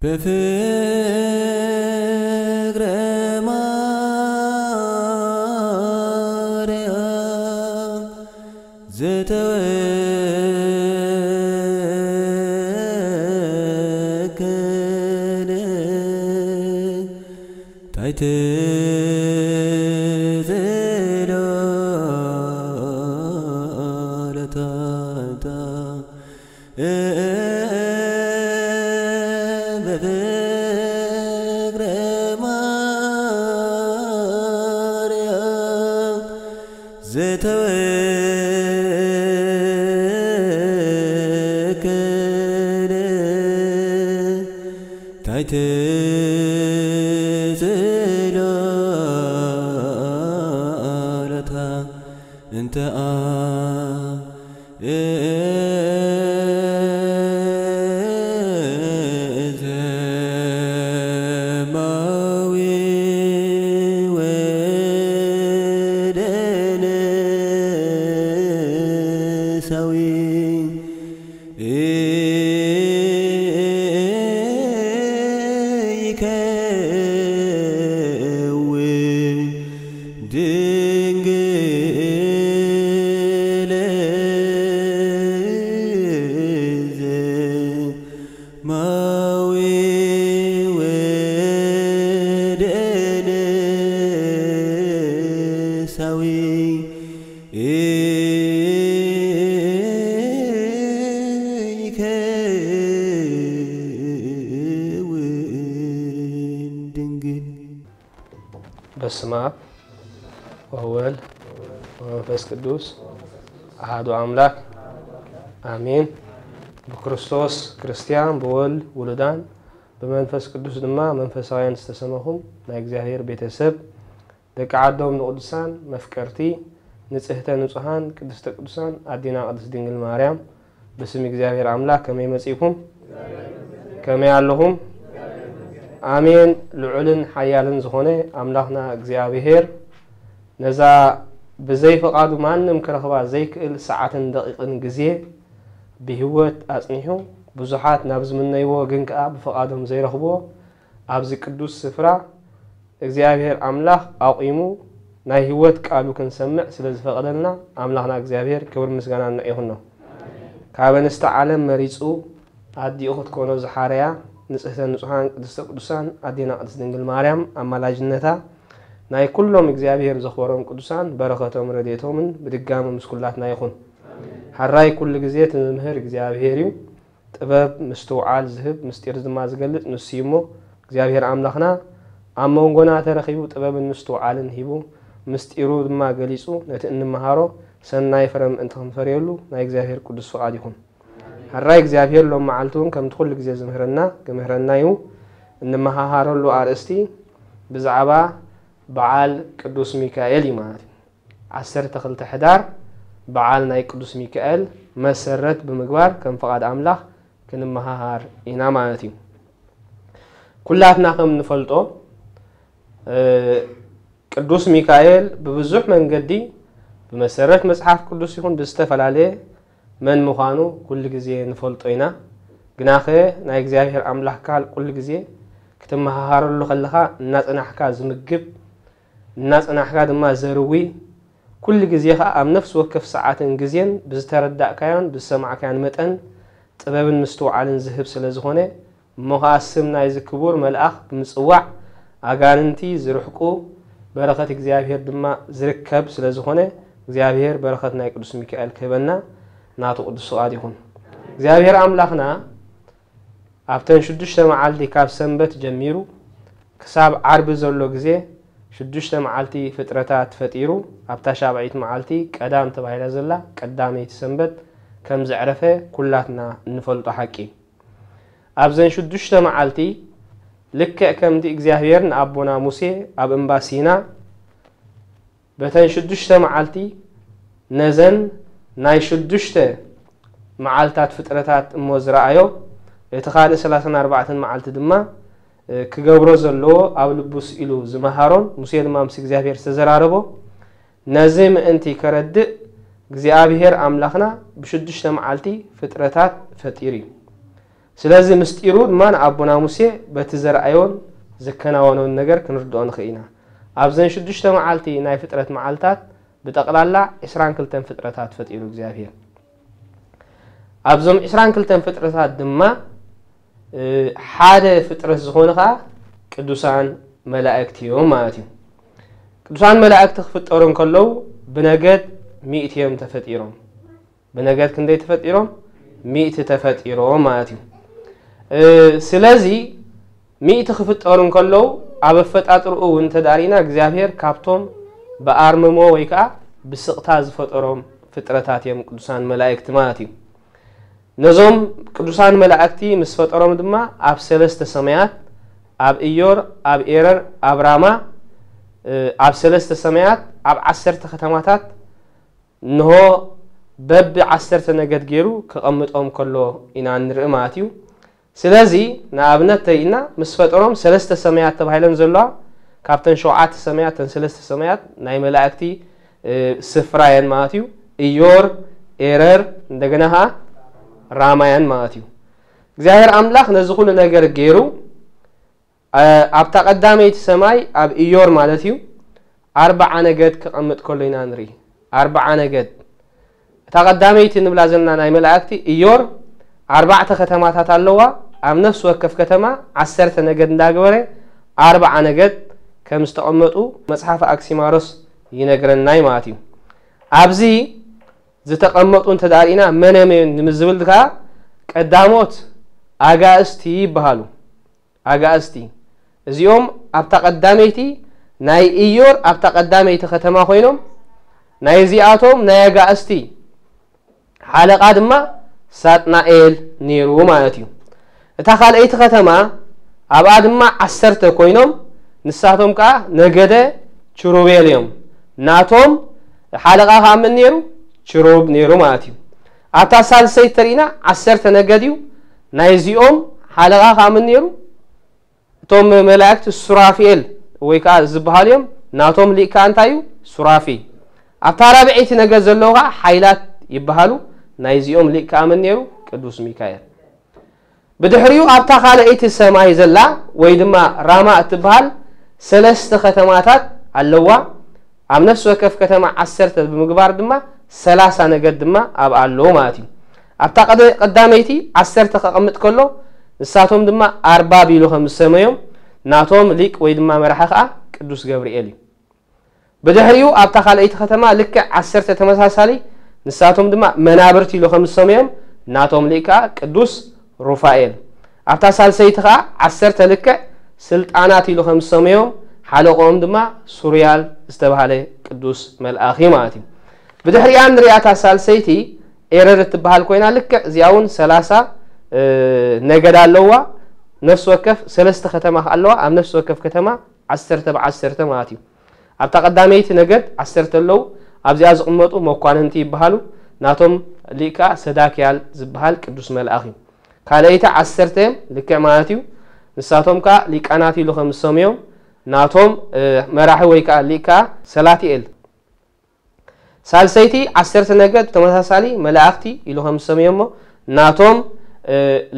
በፍቅረ ማርያም ዝተወከለ ታይተ በፍቅረ ማርያም ዝተወከለ ታይተ ጽላሎታ እንተ ወወልድ ወመንፈስ ቅዱስ ኣሃዱ ኣምላክ ኣሜን። ብክርስቶስ ክርስቲያን ብወልድ ውሉዳን ብመንፈስ ቅዱስ ድማ መንፈሳውያን ዝተሰመኹም ናይ እግዚኣብሔር ቤተሰብ ደቂ ዓዶም ንቕዱሳን መፍቀርቲ ንጽህተ ንጹሃን ቅድስተ ቅዱሳን ኣዴና ቅድስት ድንግል ማርያም ብስም እግዚኣብሔር ኣምላክ ከመይ መጺእኩም? ከመይ ኣለኹም? ኣሜን። ልዑልን ሓያልን ዝኾነ ኣምላኽና እግዚኣብሔር ነዛ ብዘይ ፍቓዱ ማንም ክረኽባ ዘይክእል ሰዓትን ደቂቕን ግዜ ብህይወት ኣጽኒሑ ብዙሓት ናብ ዝምነይዎ ግን ከኣ ብፍቓዶም ዘይረኽብዎ ኣብዚ ቅዱስ ስፍራ እግዚኣብሔር ኣምላኽ ኣቑሙ ናይ ህይወት ቃሉ ክንሰምዕ ስለ ዝፈቐደልና ኣምላኽና እግዚኣብሔር ክብር ምስጋና ንዕ ይኹኖ። ካብ ኣንስቲ ዓለም መሪጹ ኣዲኡ ክትኮኖ ዝሓረያ ንጽህተ ንጹሃን ቅድስተ ቅዱሳን ኣዴና ቅድስት ድንግል ማርያም ኣማላጅነታ ናይ ኩሎም እግዚኣብሔር ዘኽበሮም ቅዱሳን በረኸቶም ረድኤቶምን ብድጋሚ ምስ ኩላትና ይኹን። ሓራይ ኩሉ ግዜ እቲ ዝምህር እግዚኣብሔር እዩ። ጥበብ ምስትውዓል ዝህብ ምስጢር ድማ ዝገልጽ ንሱ እዩ እሞ እግዚኣብሔር ኣምላኽና ኣብ መንጎና ተረኺቡ ጥበብን ምስትውዓልን ሂቡ ምስጢሩ ድማ ገሊጹ ነቲ እንመሃሮ ሰናይ ፍረ ምእንቲ ክንፈርየሉ ናይ እግዚኣብሔር ቅዱስ ፍቓድ ይኹን። ሕራይ እግዚኣብሔር ሎም መዓልቲ እውን ከምቲ ኩሉ ግዜ ዝምህረና ክምህረና እዩ። እንመሃሃረሉ ኣርእስቲ ብዛዕባ በዓል ቅዱስ ሚካኤል እዩ ማለት እዩ። ዓሰርተ ክልተ ሕዳር በዓል ናይ ቅዱስ ሚካኤል መሰረት ብምግባር ከም ፍቓድ ኣምላኽ ክንመሃሃር ኢና ማለት እዩ። ኩላትና ከም ንፈልጦ ቅዱስ ሚካኤል ብብዙሕ መንገዲ ብመሰረት መጽሓፍ ቅዱስ ይኹን ብዝተፈላለየ መን ምዃኑ ኩሉ ግዜ ንፈልጦ ኢና። ግናኸ ናይ እግዚኣብሔር ኣምላኽ ቃል ኩሉ ግዜ ክትመሃሃረሉ ከለኻ እናጸናሕካ ዝምግብ እናጸናሕካ ድማ ዘርዊ ኩሉ ግዜ ኸኣ ኣብ ነፍሲ ወከፍ ሰዓትን ግዜን ብዝተረዳእካዮን ብዝሰማዕካዮን መጠን ጥበብን ምስትውዓልን ዝህብ ስለ ዝኾነ እሞ ኸኣ ስም ናይዚ ክቡር መልኣኽ ብምጽዋዕ ኣጋንንቲ ዝርሕቁ በረኸት እግዚኣብሔር ድማ ዝርከብ ስለ ዝኾነ እግዚኣብሔር በረኸት ናይ ቅዱስ ሚካኤል ክህበና ናቱ ቅዱስ ፍቓድ ይኹን። እግዚኣብሔር ኣምላኽና ኣብተን ሽዱሽተ መዓልቲ ካብ ሰንበት ጀሚሩ ክሳብ ዓርቢ ዘሎ ግዜ ሽዱሽተ መዓልቲ ፍጥረታት ፈጢሩ ኣብታ ሻብዒት መዓልቲ ቀዳም ተባሂላ ዘላ ቀዳመይቲ ሰንበት ከም ዘዕረፈ ኩላትና እንፈልጦ ሓቂ። ኣብዘን ሽዱሽተ መዓልቲ ልክዕ ከምቲ እግዚኣብሔር ንኣቦና ሙሴ ኣብ እምባ ሲና በተን ሽዱሽተ መዓልቲ ነዘን ናይ ሽዱሽተ መዓልታት ፍጥረታት እሞ ዝረኣዮ እቲ ካልእ ሰላሳን ኣርባዕተን መዓልቲ ድማ ክገብሮ ዘለዎ ኣብ ልቡ ስኢሉ ዝመሃሮን ሙሴ ድማ ምስ እግዚኣብሔር ዝተዘራረቦ ነዚ ምእንቲ ከረድእ እግዚኣብሔር ኣምላኽና ብሽዱሽተ መዓልቲ ፍጥረታት ፈጢሩ እዩ። ስለዚ ምስጢሩ ድማ ንኣቦና ሙሴ በቲ ዘርኣዮን ዘከናወኖን ነገር ክንርድኦ ንኽእል ኢና። ኣብዘን ሽዱሽተ መዓልቲ ናይ ፍጥረት መዓልታት ብጠቕላላ ዕስራን ክልተን ፍጥረታት ፈጢሩ እግዚኣብሔር። ኣብዞም ዕስራን ክልተን ፍጥረታት ድማ ሓደ ፍጥረት ዝኾኑ ከዓ ቅዱሳን መላእክቲ እዮም ማለት እዩ። ቅዱሳን መላእክቲ ክፍጠሩ እንከለዉ ብነገድ ሚእቲ እዮም ተፈጢሮም። ብነገድ ክንደይ ተፈጢሮም? ሚእቲ ተፈጢሮም ማለት እዩ። ስለዚ ሚእቲ ክፍጠሩ እንከለዉ ኣብ ኣፈጣጥርኡ እውን እንተዳሪና እግዚኣብሔር ካብቶም ብኣርምሞ ወይ ከዓ ብስቕታ ዝፈጠሮም ፍጥረታት እዮም ቅዱሳን መላእክቲ ማለት እዩ። ነዞም ቅዱሳን መላእክቲ ምስ ፈጠሮም ድማ ኣብ ሰለስተ ሰማያት፣ ኣብ እዮር፣ ኣብ ኤረር፣ ኣብ ራማ፣ ኣብ ሰለስተ ሰማያት ኣብ ዓሰርተ ከተማታት እንሆ በቢ ዓሰርተ ነገድ ገይሩ ክቐምጦም ከሎ ኢና ንርኢ ማለት እዩ። ስለዚ ንኣብነት ተይና ምስ ፈጠሮም ሰለስተ ሰማያት ተባሂለን ዘለዋ ካብተን ሸውዓተ ሰማያት ተን ሰለስተ ሰማያት ናይ መላእክቲ ስፍራ የን ማለት እዩ። እዮር፣ ኤረር፣ እንደገና ኸዓ ራማያን ማለት እዩ። እግዚኣብሔር ኣምላኽ ነዚ ኩሉ ነገር ገይሩ ኣብታ ቀዳመይቲ ሰማይ ኣብ እዮር ማለት እዩ ኣርባዓ ነገድ ክቐምጥ ከሎ ኢና ንርኢ። ኣርባዓ ነገድ። እታ ቀዳመይቲ ንብላ ዘለና ናይ መላእክቲ እዮር ኣርባዕተ ከተማታት ኣለዋ። ኣብ ነፍሲ ወከፍ ከተማ ዓሰርተ ነገድ እንዳገበረ ኣርባዓ ነገድ ከም ዝተቐመጡ መጽሓፍ ኣክሲማሮስ ይነግረናይ ማለት እዩ። ኣብዚ ዝተቐመጡ እንተ ዳርኢና መነ መን ንምዝብል ከዓ ቀዳሞት ኣጋእስቲ ይበሃሉ። ኣጋእዝቲ እዚኦም ኣብታ ቀዳመይቲ ናይ ኢዮር ኣብታ ቀዳመይቲ ከተማ ኮይኖም ናይ እዚኣቶም ናይ ኣጋእዝቲ ሓለቓ ድማ ሳጥናኤል ነይሩ ማለት እዩ። እታ ካልኣይቲ ከተማ ኣብኣ ድማ ዓሰርተ ኮይኖም ንሳቶም ከዓ ነገደ ችሩቤል እዮም። ናቶም ሓለቓ ከዓ መን ነይሩ? ችሩብ ነይሩ ማለት እዩ። ኣብታ ሳልሰይቲ ተሪእና ዓሰርተ ነገድ እዩ። ናይዚኦም ሓለቓ ከዓ መን ነይሩ? እቶም መላእክቲ ሱራፊኤል ወይ ከዓ ዝበሃሉ እዮም። ናቶም ሊቅ ከዓ እንታይ እዩ? ሱራፊ። ኣብታ ራብዐይቲ ነገድ ዘለዉ ከዓ ሓይላት ይበሃሉ። ናይዚኦም ሊቅ ከዓ መን ነይሩ? ቅዱስ ሚካኤል። ብድሕሪኡ ኣብታ ካልኣይቲ ሰማይ ዘላ ወይ ድማ ራማ እትበሃል ሰለስተ ከተማታት ኣለዋ። ኣብ ነፍሲ ወከፍ ከተማ ዓሰርተ ብምግባር ድማ ሰላሳ ነገድ ድማ ኣብኣ ኣለዉ ማለት እዩ። ኣብታ ቀደ- ቀዳመይቲ ዓሰርተ ከቐምጥ ከሎ ንሳቶም ድማ ኣርባብ ኢሉ ከም ዝሰመዮም ናቶም ሊቅ ወይ ድማ መራሒ ከዓ ቅዱስ ገብርኤል እዩ። ብድሕሪኡ ኣብታ ካልኣይቲ ከተማ ልክዕ ዓሰርተ ተመሳሳሊ ንሳቶም ድማ መናብርቲ ኢሉ ከም ዝሰመዮም ናቶም ሊቅ ከዓ ቅዱስ ሩፋኤል። ኣብታ ሳልሰይቲ ከዓ ዓሰርተ ልክዕ ስልጣናት ኢሉ ከም ዝሰመዮም ሓለቆኦም ድማ ሱርያል ዝተባሃለ ቅዱስ መልኣኽ እዩ ማለት እዩ። ብድሕሪኣ ንሪኣታ ሳልሰይቲ ኤረር እትበሃል ኮይና ልክዕ እዚኣ እውን ሰላሳ ነገድ ኣለዋ። ነፍሲ ወከፍ ሰለስተ ከተማ ከ ኣለዋ። ኣብ ነፍሲ ወከፍ ከተማ ዓሰርተ ብዓሰርተ ማለት እዩ። ኣብታ ቀዳመይቲ ነገድ ዓሰርተ ኣለዉ። ኣብዚኣ ዝቕመጡ መኳንንቲ ይበሃሉ። ናቶም ሊቅ ከዓ ሰዳክያል ዝበሃል ቅዱስ መልኣኽ እዩ። ካልኣይቲ ዓሰርተ እዮም ልክዕ ማለት እዩ። ንሳቶም ከዓ ሊቃናት ኢሉ ከም ዝሰምዮም ናቶም መራሒ ወይ ከዓ ሊቅ ከዓ ሰላትኤል። ሳልሰይቲ ዓሰርተ ነገድ ተመሳሳሊ መላእኽቲ ኢሉ ከም ዝሰምዮሞ ናቶም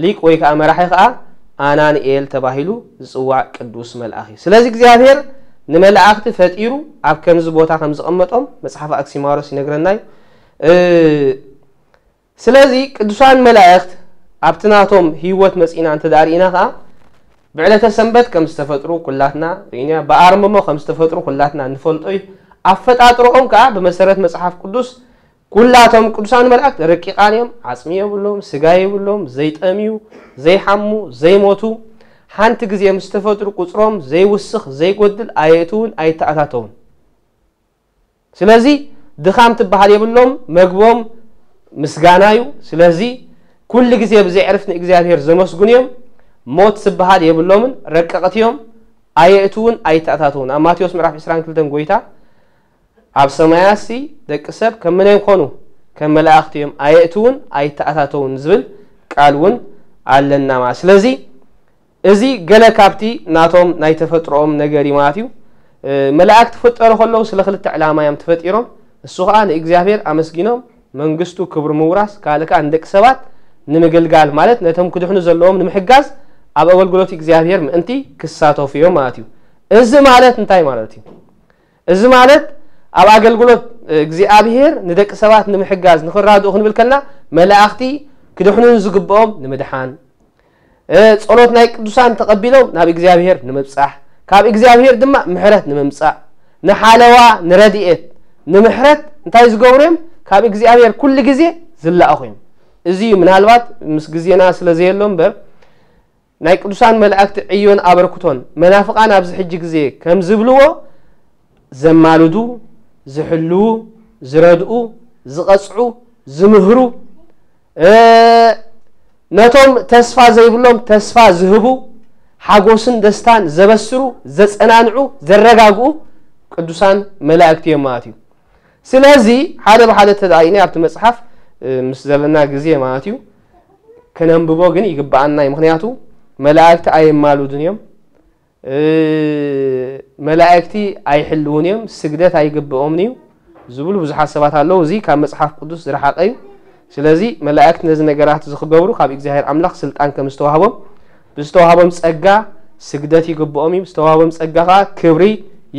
ሊቅ ወይ ከዓ መራሒ ከዓ ኣናንኤል ተባሂሉ ዝፅዋዕ ቅዱስ መልኣኽ እዩ። ስለዚ እግዚኣብሔር ንመላእኽቲ ፈጢሩ ኣብ ከምዚ ቦታ ከም ዝቐመጦም መጽሓፍ ኣክሲማሮስ ይነግረና እዩ። ስለዚ ቅዱሳን መላእኽት ኣብቲ ናቶም ህይወት መጺና እንተ ደኣ ርኢና ከኣ ብዕለተ ሰንበት ከም ዝተፈጥሩ ኩላትና ርኢና፣ ብኣርምሞ ከም ዝተፈጥሩ ኩላትና ንፈልጦ እዩ። ኣፈጣጥሮኦም ከኣ ብመሰረት መጽሓፍ ቅዱስ ኩላቶም ቅዱሳን መላእክት ረቂቃን እዮም፣ ዓጽሚ የብሎም፣ ስጋ የብሎም፣ ዘይጠምዩ፣ ዘይሓሙ፣ ዘይሞቱ፣ ሓንቲ ግዜ ምስ ተፈጥሩ ቁጽሮም ዘይውስኽ ዘይጎድል ኣየእትውን ኣይተኣታተውን። ስለዚ ድኻም ትበሃል የብሎም፣ መግቦም ምስጋና እዩ። ስለዚ ኩሉ ግዜ ብዘይ ዕርፍ ንእግዚኣብሔር ዘመስግኑ እዮም። ሞት ዝበሃል የብሎምን፣ ረቀቕቲ እዮም፣ ኣየእትውን ኣይተኣታተውን። ኣብ ማቴዎስ ምዕራፍ ዕስራን ክልተን ጎይታ ኣብ ሰማያሲ ደቂ ሰብ ከም መን ይኾኑ? ከም መላእኽቲ እዮም፣ ኣየእትውን ኣይተኣታተውን ዝብል ቃል እውን ኣለና ማለት። ስለዚ እዚ ገለ ካብቲ ናቶም ናይ ተፈጥሮኦም ነገር እዩ ማለት እዩ። መላእክት ክፍጠሩ ከለዉ ስለ ክልተ ዕላማ እዮም ተፈጢሮም። እሱ ኸዓ ንእግዚኣብሔር ኣመስጊኖም መንግስቱ ክብሪ ምውራስ፣ ካልእ ከኣ ንደቂ ሰባት ንምግልጋል ማለት ነቶም ክድሕኑ ዘለዎም ንምሕጋዝ ኣብ ኣገልግሎት እግዚኣብሔር ምእንቲ ክሳተፉ እዮም ማለት እዩ። እዚ ማለት እንታይ ማለት እዩ? እዚ ማለት ኣብ ኣገልግሎት እግዚኣብሔር ንደቂ ሰባት ንምሕጋዝ ንኽራድኡ ክንብል ከልና መላእኽቲ ክድሕኑ ዝግብኦም ንምድሓን፣ እ፣ ጸሎት ናይ ቅዱሳን ተቐቢሎም ናብ እግዚኣብሔር ንምብጻሕ፣ ካብ እግዚኣብሔር ድማ ምሕረት ንምምጻእ፣ ንሓለዋ ንረድኤት ንምሕረት እንታይ ዝገብሩ እዮም? ካብ እግዚኣብሔር ኩሉ ግዜ ዝለኣኹ እዮም። እዚ ምናልባት ምስ ግዜና ስለ ዘየሎ እምበር ናይ ቅዱሳን መላእክቲ ዕዮን ኣበርክቶን መናፍቃን ኣብዚ ሕጂ ግዜ ከም ዝብልዎ ዘማልዱ፣ ዝሕልዉ፣ ዝረድኡ፣ ዝቐጽዑ፣ ዝምህሩ፣ እ፣ ነቶም ተስፋ ዘይብሎም ተስፋ ዝህቡ፣ ሓጎስን ደስታን ዘበስሩ፣ ዘጸናንዑ፣ ዘረጋግኡ ቅዱሳን መላእክቲ እዮም ማለት እዩ። ስለዚ ሓደ ብሓደ ተዳኢነ ኣብቲ መጽሓፍ፣ እ፣ ምስ ዘለና ግዜ ማለት እዩ ከነንብቦ ግን ይግብኣና እዩ። ምኽንያቱ መላእክቲ ኣየማሉድን እዮም። እ፣ መላእክቲ ኣይሕልውን እዮም፣ ስግደት ኣይግብኦምን እዩ ዝብሉ ብዙሓት ሰባት ኣለዉ። እዚ ካብ መጽሓፍ ቅዱስ ዝረሓቐ እዩ። ስለዚ መላእክቲ ነዚ ነገራት እዚ ክገብሩ ካብ እግዚኣብሔር ኣምላኽ ስልጣን ከም ዝተዋህቦም፣ ብዝተዋህቦም ጸጋ ስግደት ይግብኦም እዩ፣ ብዝተዋህቦም ጸጋ ከኣ ክብሪ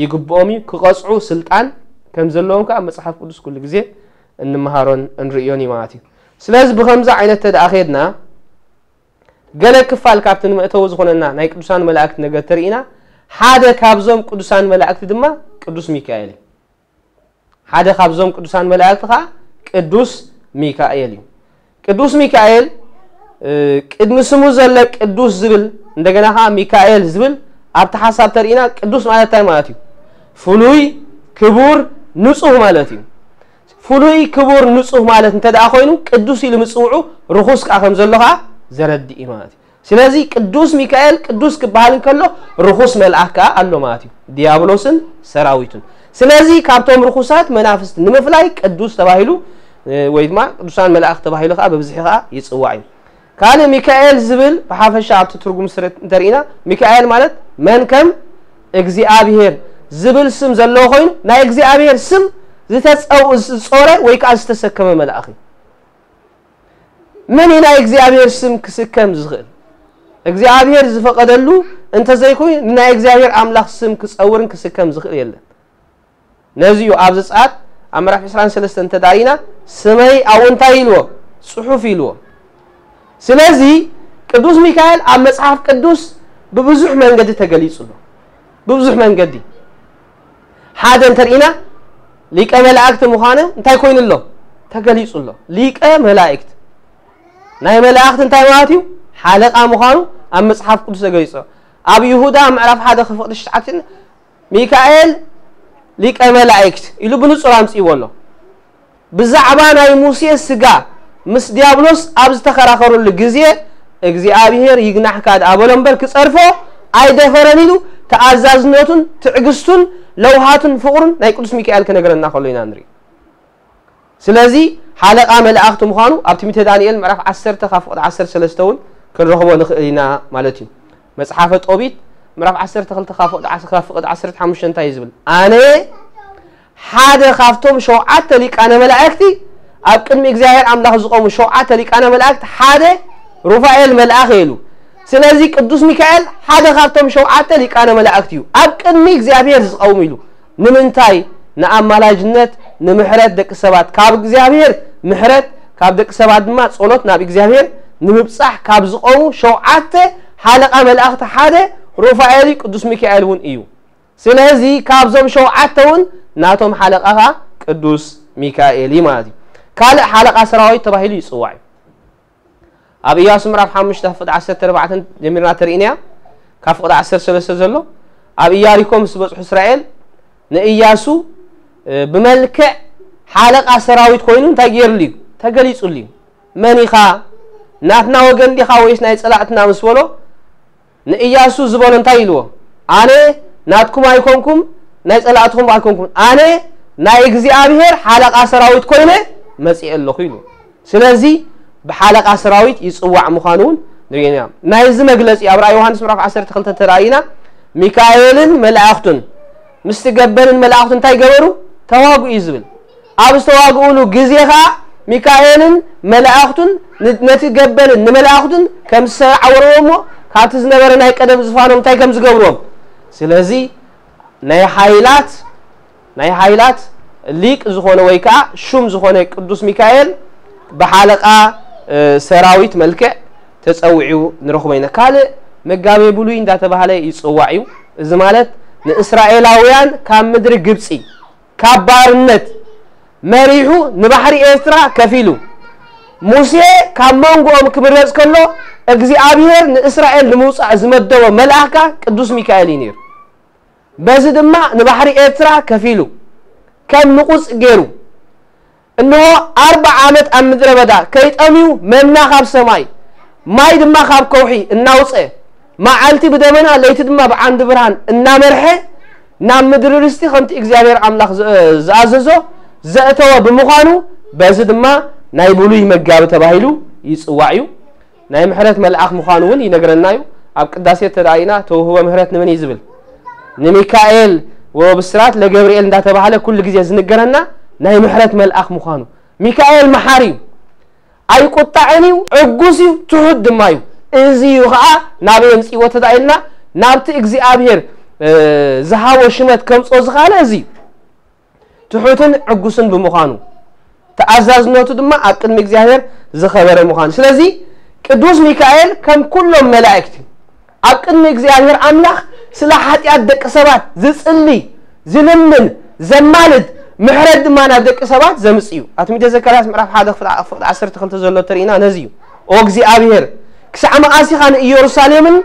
ይግብኦም እዩ፣ ክቐጽዑ ስልጣን ከም ዘለዎም ከኣ መጽሓፍ ቅዱስ ኩሉ ግዜ እንመሃሮን እንርእዮን እዩ ማለት እዩ። ስለዚ ብኸምዚ ዓይነት ተደኣ ኸድና ገለ ክፋል ካብቲ ንመእተዊ ዝኾነና ናይ ቅዱሳን መላእክቲ ነገር ተርኢና፣ ሓደ ካብዞም ቅዱሳን መላእክቲ ድማ ቅዱስ ሚካኤል እዩ። ሓደ ካብዞም ቅዱሳን መላእክቲ ኸዓ ቅዱስ ሚካኤል እዩ። ቅዱስ ሚካኤል፣ እ፣ ቅድሚ ስሙ ዘሎ ቅዱስ ዝብል፣ እንደገና ኸዓ ሚካኤል ዝብል ኣብቲ ሓሳብ ተርኢና፣ ቅዱስ ማለት እንታይ ማለት እዩ? ፍሉይ፣ ክቡር፣ ንጹህ ማለት እዩ። ፍሉይ፣ ክቡር፣ ንጹህ ማለት እንተ ደኣ ኮይኑ፣ ቅዱስ ኢሉ ምጽውዑ ርኹስ ከኣ ከም ዘሎ ከኣ ዘረድእ እዩ ማለት እዩ። ስለዚ ቅዱስ ሚካኤል ቅዱስ ክበሃል እንከሎ፣ ርኹስ መልኣክ ከኣ ኣሎ ማለት እዩ፣ ዲያብሎስን ሰራዊቱን። ስለዚ ካብቶም ርኹሳት መናፍስቲ ንምፍላይ ቅዱስ ተባሂሉ፣ እ፣ ወይ ድማ ቅዱሳን መላእክቲ ተባሂሉ ከኣ ብብዝሒ ከኣ ይጽዋዕ እዩ። ካልእ ሚካኤል ዝብል ብሓፈሻ ኣብቲ ትርጉም ስረ እንተርኢና፣ ሚካኤል ማለት መን ከም እግዚኣብሔር ዝብል ስም ዘለዎ ኮይኑ፣ ናይ እግዚኣብሔር ስም ዝተጸው-፣ ዝጾረ ወይ ከኣ ዝተሰከመ መልኣኽ እዩ። መን እዩ ናይ እግዚኣብሔር ስም ክስከም ዝኽእል? እግዚኣብሔር ዝፈቐደሉ እንተዘይኮይኑ፣ ንናይ እግዚኣብሔር ኣምላኽ ስም ክጸውርን ክስከም ዝኽእል የለን። ነዚ እዩ ኣብ ዘጸኣት ኣብ ምዕራፍ ዕስራን ሰለስተን እንተ ደኣ ርኢና፣ ስመይ ኣብኡ እንታይ ኢልዎ? ጽሑፍ ኢልዎ። ስለዚ ቅዱስ ሚካኤል ኣብ መጽሓፍ ቅዱስ ብብዙሕ መንገዲ ተገሊጹ ኣሎ። ብብዙሕ መንገዲ። ሓደ እንተ ርኢና፣ ሊቀ መላእክቲ ምዃኑ እንታይ ኮይኑ ኣሎ? ተገሊጹ ኣሎ። ሊቀ መላእክት። ናይ መላእክት እንታይ ማለት እዩ? ሓለቓ ምዃኑ ኣብ መጽሓፍ ቅዱስ ተገሊጹ ኣሎ። ኣብ ይሁዳ ምዕራፍ ሓደ ከፍቕዲ ትሽዓተ ሚካኤል ሊቀ መላእክት ኢሉ ብንጹር ኣምጺእዎ ኣሎ። ብዛዕባ ናይ ሙሴ ስጋ ምስ ዲያብሎስ ኣብ ዝተኸራኸሩሉ ግዜ፣ እግዚኣብሔር ይግናሕካ ደኣ በሎ እምበር ክጸርፎ ኣይደፈረን ኢሉ ተኣዛዝነቱን ትዕግስቱን ለውሃቱን ፍቕሩን ናይ ቅዱስ ሚካኤል ክነግረና ከሎ ኢና ንርኢ። ስለዚ ሓለቓ መላእኽቲ ምዃኑ ኣብ ትንቢተ ዳንኤል ምዕራፍ ዓሰርተ ካብ ፍቕዲ ዓሰርተ ሰለስተ እውን ክንረኽቦ ንኽእል ኢና ማለት እዩ። መጽሓፈ ጦቢት ምዕራፍ ዓሰርተ ክልተ ካብ ፍቕዲ ዓሰርተ፣ ካብ ፍቕዲ ዓሰርተ ሓሙሽተ እንታይ እዩ ዝብል? ኣነ ሓደ ካብቶም ሸውዓተ ሊቃነ መላእክቲ፣ ኣብ ቅድሚ እግዚኣብሔር ኣምላኽ ዝቖሙ ሸውዓተ ሊቃነ መላእክቲ ሓደ ሩፋኤል መልኣኽ እየ ኢሉ። ስለዚ ቅዱስ ሚካኤል ሓደ ካብቶም ሸውዓተ ሊቃነ መላእክቲ እዩ፣ ኣብ ቅድሚ እግዚኣብሔር ዝቐውም ኢሉ። ንምንታይ? ንኣማላጅነት፣ ንምሕረት ደቂ ሰባት፣ ካብ እግዚኣብሔር ምሕረት፣ ካብ ደቂ ሰባት ድማ ጸሎት ናብ እግዚኣብሔር ንምብጻሕ ካብ ዝቐሙ ሸውዓተ ሓለቓ መላእኽቲ ሓደ ሩፋኤል እዩ፣ ቅዱስ ሚካኤል እውን እዩ። ስለዚ ካብዞም ሸውዓተ እውን ናቶም ሓለቓ ኸኣ ቅዱስ ሚካኤል እዩ ማለት እዩ። ካልእ ሓለቓ ሰራዊት ተባሂሉ ይጽዋዕ እዩ። ኣብ ኢያሱ ምዕራፍ ሓሙሽተ ፍቕዲ ዓሰርተ ኣርባዕተ ጀሚርና ተርኢናያ፣ ካብ ፍቕዲ ዓሰርተ ሰለስተ ዘሎ፣ ኣብ ኢያሪኮ ምስ በጽሑ እስራኤል ንኢያሱ፣ እ፣ ብመልክዕ ሓለቓ ሰራዊት ኮይኑ እንታይ ገይርሉ እዩ? ተገሊጹሉ እዩ። መን ኢኻ? ናትና ወገን ዲኻ ወይስ ናይ ጸላእትና ምስ በሎ፣ ንኢያሱ ዝበሎ እንታይ ኢልዎ? ኣነ ናትኩም ኣይኮንኩም፣ ናይ ጸላእትኹም ኣይኮንኩም። ኣነ ናይ እግዚኣብሔር ሓለቓ ሰራዊት ኮይነ መጺኤ ኣለኹ ኢሉ። ስለዚ ብሓለቓ ሰራዊት ይጽዋዕ ምዃኑ እውን ንርእዮ ኢና። ናይዚ መግለጺ ኣብ ራእይ ዮሃንስ ምዕራፍ ዓሰርተ ክልተ ተራእይና፣ ሚካኤልን መላእኽቱን ምስቲ ገበልን መላእኽቱ እንታይ ገበሩ? ተዋግኡ እዩ ዝብል። ኣብ ዝተዋግኡሉ ግዜ ኸኣ ሚካኤልን መላእኽቱን ን- ነቲ ገበልን ንመላእኽቱን ከም ዝሰዓወርዎ እሞ ካብቲ ዝነበረ ናይ ቀደም ዝፋኖም እንታይ ከም ዝገብርዎም። ስለዚ ናይ ሓይላት ናይ ሓይላት ሊቅ ዝኾነ ወይ ከዓ ሹም ዝኾነ ቅዱስ ሚካኤል ብሓለቃ ሰራዊት መልክዕ ተፀዊዑ ንረኽቦ ኢና። ካልእ መጋቤ ብሉይ እንዳተባህለ ይፅዋዕ እዩ። እዚ ማለት ንእስራኤላውያን ካብ ምድሪ ግብፂ ካብ ባርነት መሪሑ ንባሕሪ ኤርትራ ከፊሉ፣ ሙሴ ካብ መንጎኦም ክምረፅ ከሎ እግዚኣብሔር ንእስራኤል ንምውፃእ ዝመደቦ መልኣካ ቅዱስ ሚካኤል እዩ ነይሩ። በዚ ድማ ንባሕሪ ኤርትራ ከፊሉ ከም ንቑፅ ገይሩ፣ እንሆ ኣርባዓ ዓመት ኣብ ምድረ በዳ ከይጠምዩ መና ካብ ሰማይ ማይ ድማ ካብ ከውሒ እናውፀ፣ መዓልቲ ብደመና ለይቲ ድማ ብዓንዲ ብርሃን እናመርሐ ናብ ምድሪ ርስቲ ከምቲ እግዚኣብሔር ኣምላኽ ዝኣዘዞ ዘእተወ ብምዃኑ፣ በዚ ድማ ናይ ብሉይ መጋቢ ተባሂሉ ይፅዋዕ እዩ። ናይ ምሕረት መልኣኽ ምዃኑ እውን ይነግረና እዩ። ኣብ ቅዳሴ ተዳኢና ተውህቦ ምሕረት ንመን እዩ ዝብል? ንሚካኤል። ወብስራት ለገብርኤል እንዳተባህለ ኩሉ ግዜ ዝንገረና ናይ ምሕረት መልኣኽ ምዃኑ። ሚካኤል መሓሪ እዩ፣ ኣይቁጣዕን እዩ፣ ዕጉስ እዩ፣ ትሑት ድማ እዩ። እዚ እዩ ከዓ ናበይ የምፅእዎ ተዳኢልና ናብቲ እግዚኣብሔር ዝሃቦ ሽመት ከምፅኦ ዝኻለ እዚ እዩ። ትሑትን ዕጉስን ብምዃኑ፣ ተኣዛዝነቱ ድማ ኣብ ቅድሚ እግዚኣብሔር ዝኸበረ ምዃኑ። ስለዚ ቅዱስ ሚካኤል ከም ኩሎም መላእክቲ ኣብ ቅድሚ እግዚኣብሔር ኣምላኽ ስለ ሓጢኣት ደቂ ሰባት ዝጽሊ፣ ዝልምን፣ ዘማልድ፣ ምሕረት ድማ ናብ ደቂ ሰባት ዘምጽእ እዩ። ኣብ ትንቢተ ዘካርያስ ምዕራፍ ሓደ ፍቕዲ ዓሰርተ ክልተ ዘሎ ተርእይና ነዚ እዩ። ኦ እግዚኣብሔር፣ ክሳዕ መዓስ ኢኻ ንኢየሩሳሌምን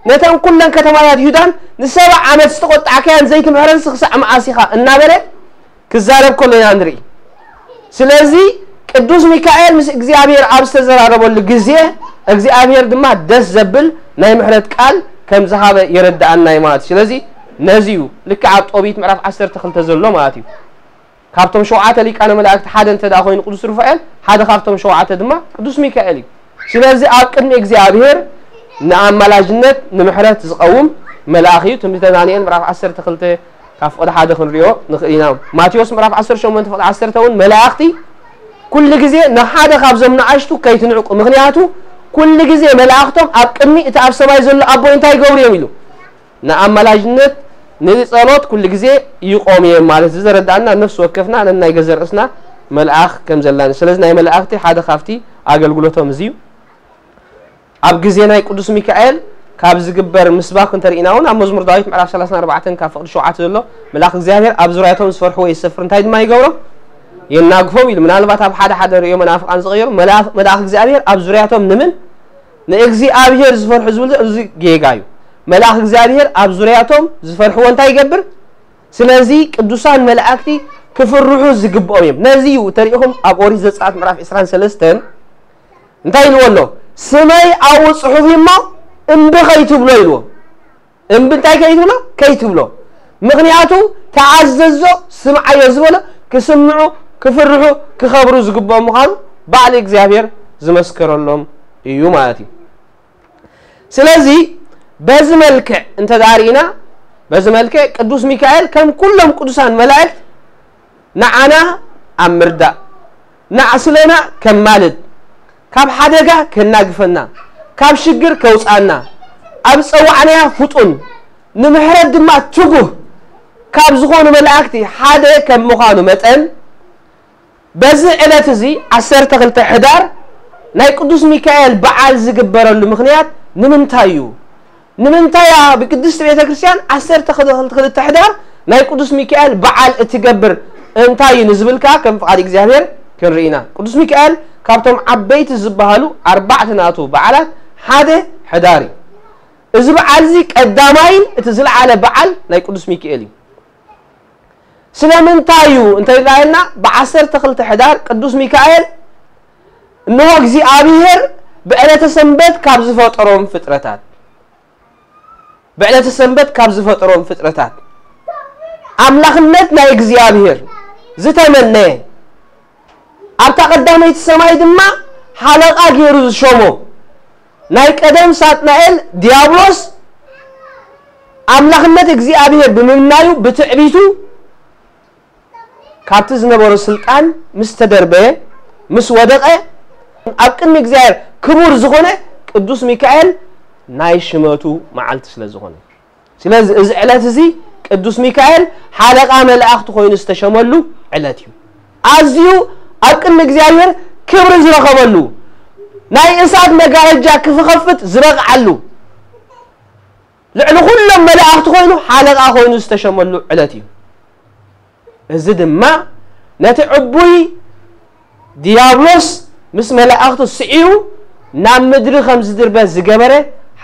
ነተን ኩለን ከተማታት ይሁዳን ንሰብዓ ዓመት ዝተቖጣዕካያን ዘይትምሕረንሲ ክሳዕ መዓስ ኢኻ እናበለ ክዛረብ ከሎ ኢና ንርኢ። ስለዚ ቅዱስ ሚካኤል ምስ እግዚኣብሔር ኣብ ዝተዘራረበሉ ግዜ እግዚኣብሔር ድማ ደስ ዘብል ናይ ምሕረት ቃል ከም ዝሃበ የረድኣና እዩ ማለት እዩ። ስለዚ ነዚ እዩ ልክዕ ኣብ ጦቢት ምዕራፍ ዓሰርተ ክልተ ዘሎ ማለት እዩ። ካብቶም ሸውዓተ ሊቃነ መላእክቲ ሓደ እንተ ደኣ ኮይኑ ቅዱስ ሩፋኤል፣ ሓደ ካብቶም ሸውዓተ ድማ ቅዱስ ሚካኤል እዩ። ስለዚ ኣብ ቅድሚ እግዚኣብሔር ንኣማላጅነት ንምሕረት ዝቐውም መልኣኽ እዩ። ትንቢተ ዳንኤል ምዕራፍ ዓሰርተ ክልተ ካብ ፍቕዲ ሓደ ክንሪኦ ንኽእል ኢና። ማቴዎስ ምዕራፍ ዓሰርተ ሸሞንተ ፍቕዲ ዓሰርተ እውን መላእኽቲ ኩሉ ግዜ ንሓደ ካብዞም ንኣሽቱ ከይትንዕቁ፣ ምኽንያቱ ኩሉ ግዜ መላእኽቶም ኣብ ቅድሚ እቲ ኣብ ሰማይ ዘሎ ኣቦይ እንታይ ይገብሩ እዮም ኢሉ ንኣማላጅነት ንጸሎት ኩሉ ግዜ ይቆም እዮም ማለት እዩ። ዘረዳእና ነፍሲ ወከፍና ነናይ ገዘ ርእስና መልኣኽ ከም ዘላን። ስለዚ ናይ መላእኽቲ ሓደ ካብቲ ኣገልግሎቶም እዚ እዩ። ኣብ ግዜ ናይ ቅዱስ ሚካኤል ካብ ዝግበር ምስባክ እንተርኢና እውን ኣብ መዝሙር ዳዊት ምዕራፍ ሰላሳን ኣርባዕተን ካብ ፍቕዲ ሸውዓተ ዘሎ መልኣኽ እግዚኣብሔር ኣብ ዙርያቶም ዝፈርሕዎ የሰፍር፣ እንታይ ድማ ይገብሮም? የናግፎም ኢሉ። ምናልባት ኣብ ሓደ ሓደ ርእዮ መናፍቃን ዝቐየሩ መልኣኽ እግዚኣብሔር ኣብ ዙርያቶም ንምን ንእግዚኣብሔር ዝፈርሑ ዝብል እዚ ጌጋ እዩ። መልኣኽ እግዚኣብሔር ኣብ ዙርያቶም ዝፈርሕዎ እንታይ ይገብር? ስለዚ ቅዱሳን መላእክቲ ክፍርሑ ዝግብኦም እዮም። ነዚ እዩ ተሪኢኹም ኣብ ኦሪት ዘጸኣት ምዕራፍ ዕስራን ሰለስተን እንታይ ኢልዎ ኣሎ? ስመይ ኣብኡ ጽሑፍ እሞ እምቢ ከይትብሎ ኢልዎ። እምቢ እንታይ ከይትብሎ? ከይትብሎ። ምኽንያቱ ተኣዘዞ ስምዓዮ ዝበሎ ክስምዑ ክፍርሑ ክኸብሩ ዝግብኦም ምዃኑ ባዕሊ እግዚኣብሔር ዝመስከረሎም እዩ ማለት እዩ። ስለዚ በዚ መልክዕ እንተ ደኣ ርኢና፣ በዚ መልክዕ ቅዱስ ሚካኤል ከም ኩሎም ቅዱሳን መላእክት ንዓና ኣብ ምርዳእ፣ ንዓስለና ከማልድ፣ ካብ ሓደጋ ከናግፈና፣ ካብ ሽግር ከውፅኣና፣ ኣብ ዝፀዋዕናያ ፍጡን ንምሕረት ድማ ትጉህ ካብ ዝኾኑ መላእክቲ ሓደ ከም ምዃኑ መጠን፣ በዚ ዕለት እዚ ዓሰርተ ክልተ ሕዳር ናይ ቅዱስ ሚካኤል በዓል ዝግበረሉ ምኽንያት ንምንታይ እዩ? ንምንታይ እያ ብቅድስቲ ቤተ ክርስቲያን ዓሰርተ ክልተ ሕዳር ናይ ቅዱስ ሚካኤል በዓል እትገብር እንታይ እዩ ንዝብል ከኣ ከም ፍቓድ እግዚኣብሔር ክንርኢ ኢና። ቅዱስ ሚካኤል ካብቶም ዓበይቲ ዝበሃሉ ኣርባዕተ ናቱ በዓላት ሓደ ሕዳር እዩ። እዚ በዓል እዚ ቀዳማይን እቲ ዝለዓለ በዓል ናይ ቅዱስ ሚካኤል እዩ። ስለምንታይ እዩ እንተ ኢልና ብ ዓሰርተ ክልተ ሕዳር ቅዱስ ሚካኤል እንሆ እግዚኣብሔር ብዕለተ ሰንበት ካብ ዝፈጠሮም ፍጥረታት ብዕለተ ሰንበት ካብ ዝፈጠሮም ፍጥረታት ኣምላኽነት ናይ እግዚኣብሔር ዝተመነየ ኣብታ ቀዳመይቲ ሰማይ ድማ ሓለቓ ገይሩ ዝሾሞ ናይ ቀደም ሳጥናኤል ዲያብሎስ ኣምላኽነት እግዚኣብሔር ብምምናዩ ብትዕቢቱ ካብቲ ዝነበሮ ስልጣን ምስ ተደርበየ ምስ ወደቐ ኣብ ቅድሚ እግዚኣብሔር ክቡር ዝኾነ ቅዱስ ሚካኤል ናይ ሽመቱ መዓልቲ ስለ ዝኾነ፣ ስለዚ እዚ ዕለት እዚ ቅዱስ ሚካኤል ሓለቓ መላእኽቲ ኮይኑ ዝተሸመሉ ዕለት እዩ። ኣዝዩ ኣብ ቅድሚ እግዚኣብሔር ክብሪ ዝረኸበሉ፣ ናይ እሳት መጋረጃ ክፍኸፍት ዝበቕዓሉ፣ ልዕሊ ኩሎም መላእኽቲ ኮይኑ ሓለቓ ኮይኑ ዝተሸመሉ ዕለት እዩ። እዚ ድማ ነቲ ዕቡይ ዲያብሎስ ምስ መላእኽቱ ስዒቡ ናብ ምድሪ ከም ዝድርበ ዝገበረ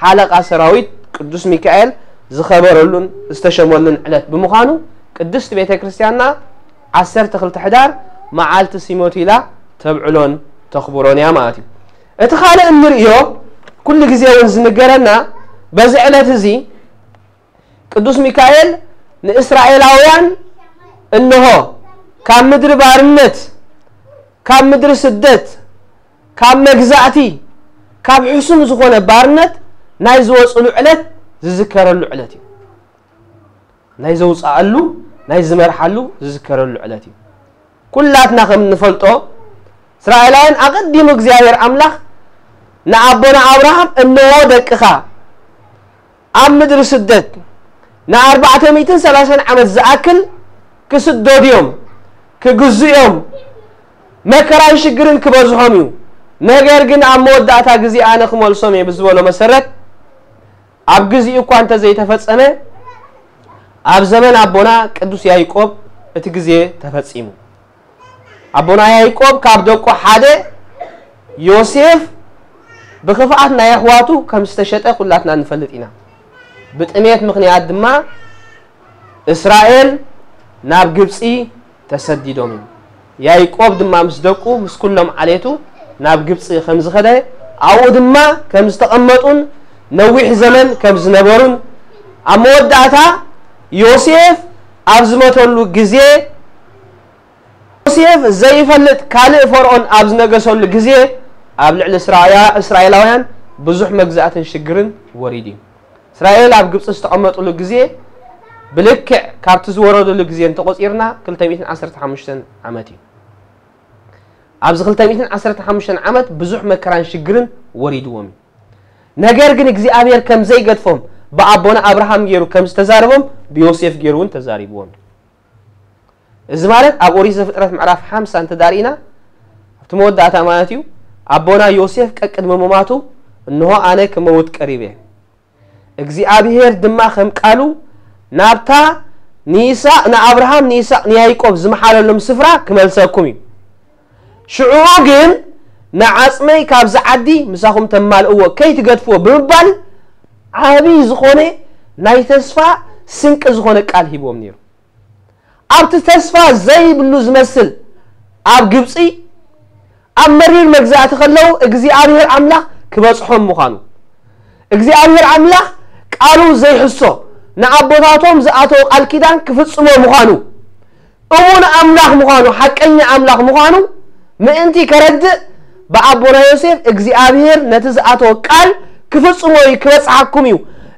ሓለቓ ሰራዊት ቅዱስ ሚካኤል ዝኸበረሉን ዝተሸመሉን ዕለት ብምዃኑ፣ ቅድስት ቤተ ክርስቲያንና ዓሰርተ ክልተ ሕዳር መዓልቲ ሲመቱ ኢላ ተብዕሎን ተኽብሮን እያ ማለት እዩ። እቲ ካልእ እንርእዮ፣ ኩሉ ግዜ እውን ዝንገረና፣ በዚ ዕለት እዚ ቅዱስ ሚካኤል ንእስራኤላውያን እንሆ ካብ ምድሪ ባርነት፣ ካብ ምድሪ ስደት፣ ካብ መግዛእቲ፣ ካብ ሕሱም ዝኾነ ባርነት ናይ ዝወፅሉ ዕለት ዝዝከረሉ ዕለት እዩ። ናይ ዘውፅኣሉ፣ ናይ ዝመርሓሉ ዝዝከረሉ ዕለት እዩ። ኩላትና ከም እንፈልጦ፣ እስራኤላውያን ኣቐዲሙ እግዚኣብሔር ኣምላኽ ንኣቦና ኣብርሃም፣ "እንሆ ደቅኻ ኣብ ምድሪ ስደት ንኣርባዕተ ሚእትን ሰላሳን ዓመት ዝኣክል ክስደዱ እዮም፣ ክግዙ እዮም፣ መከራን ሽግርን ክበዝሖም እዩ። ነገር ግን ኣብ መወዳእታ ግዜ ኣነ ክመልሶም እየ" ብዝበሎ መሰረት፣ ኣብ ግዚኡ እኳ እንተዘይተፈጸመ፣ ኣብ ዘመን ኣቦና ቅዱስ ያዕቆብ እቲ ግዜ ተፈጺሙ። ኣቦና ያዕቆብ ካብ ደቁ ሓደ ዮሴፍ ብኽፍኣት ናይ ኣሕዋቱ ከም ዝተሸጠ ኩላትና ንፈልጥ ኢና። ብጥሜት ምኽንያት ድማ እስራኤል ናብ ግብጺ ተሰዲዶም እዮም። ያዕቆብ ድማ ምስ ደቁ፣ ምስ ኩሎም ዓሌቱ ናብ ግብጺ ከም ዝኸደ፣ ኣብኡ ድማ ከም ዝተቐመጡን ነዊሕ ዘመን ከም ዝነበሩን፣ ኣብ መወዳእታ ዮሴፍ ኣብ ዝመተሉ ግዜ፣ ዮሴፍ ዘይፈልጥ ካልእ ፈርዖን ኣብ ዝነገሰሉ ግዜ፣ ኣብ ልዕሊ እስራያ-፣ እስራኤላውያን ብዙሕ መግዛእትን ሽግርን ወሪዱ እዩ። እስራኤል ኣብ ግብጺ ዝተቐመጡሉ ግዜ ብልክዕ ካብቲ ዝወረዱሉ ግዜ እንተቖጺርና ክልተ ሚእትን ዓሰርተ ሓሙሽተን ዓመት እዩ። ኣብዚ ክልተ ሚእትን ዓሰርተ ሓሙሽተን ዓመት ብዙሕ መከራን ሽግርን ወሪድዎም እዩ። ነገር ግን እግዚኣብሔር ከም ዘይገድፎም ብኣቦና ኣብርሃም ገይሩ ከም ዝተዛረቦም ብዮሴፍ ገይሩ እውን ተዛሪብዎም እዩ። እዚ ማለት ኣብ ኦሪት ዘፍጥረት ምዕራፍ ሓምሳ እንተዳርኢና ኣብቲ መወዳእታ ማለት እዩ፣ ኣቦና ዮሴፍ ቀቅድሚ ምማቱ፣ "እንሆ ኣነ ክመውት ቀሪበ፣ እግዚኣብሔር ድማ ከም ቃሉ ናብታ ንይስሐቅ፣ ንኣብርሃም፣ ንይስሐቅ፣ ንያዕቆብ ዝመሓለሎም ስፍራ ክመልሰኩም እዩ። ሽዑኡ ግን ንዓጽመይ ካብዚ ዓዲ ምሳኹም ተማልእዎ ከይትገድፍዎ" ብምባል ዓብዪ ዝኾነ ናይ ተስፋ ስንቂ ዝኾነ ቃል ሂብዎም ነይሩ። ኣብቲ ተስፋ ዘይብሉ ዝመስል ኣብ ግብጺ ኣብ መሪር መግዛእቲ ከለዉ እግዚኣብሔር ኣምላኽ ክበጽሖም ምዃኑ፣ እግዚኣብሔር ኣምላኽ ቃሉ ዘይሕሶ ንኣቦታቶም ዝኣተወ ቃል ኪዳን ክፍጽሞ ምዃኑ፣ እሙን ኣምላኽ ምዃኑ፣ ሓቀኛ ኣምላኽ ምዃኑ ምእንቲ ከረድእ ብኣቦና ዮሴፍ እግዚኣብሔር ነቲ ዝኣተወ ቃል ክፍጽሞ እዩ፣ ክበጽሓኩም እዩ፣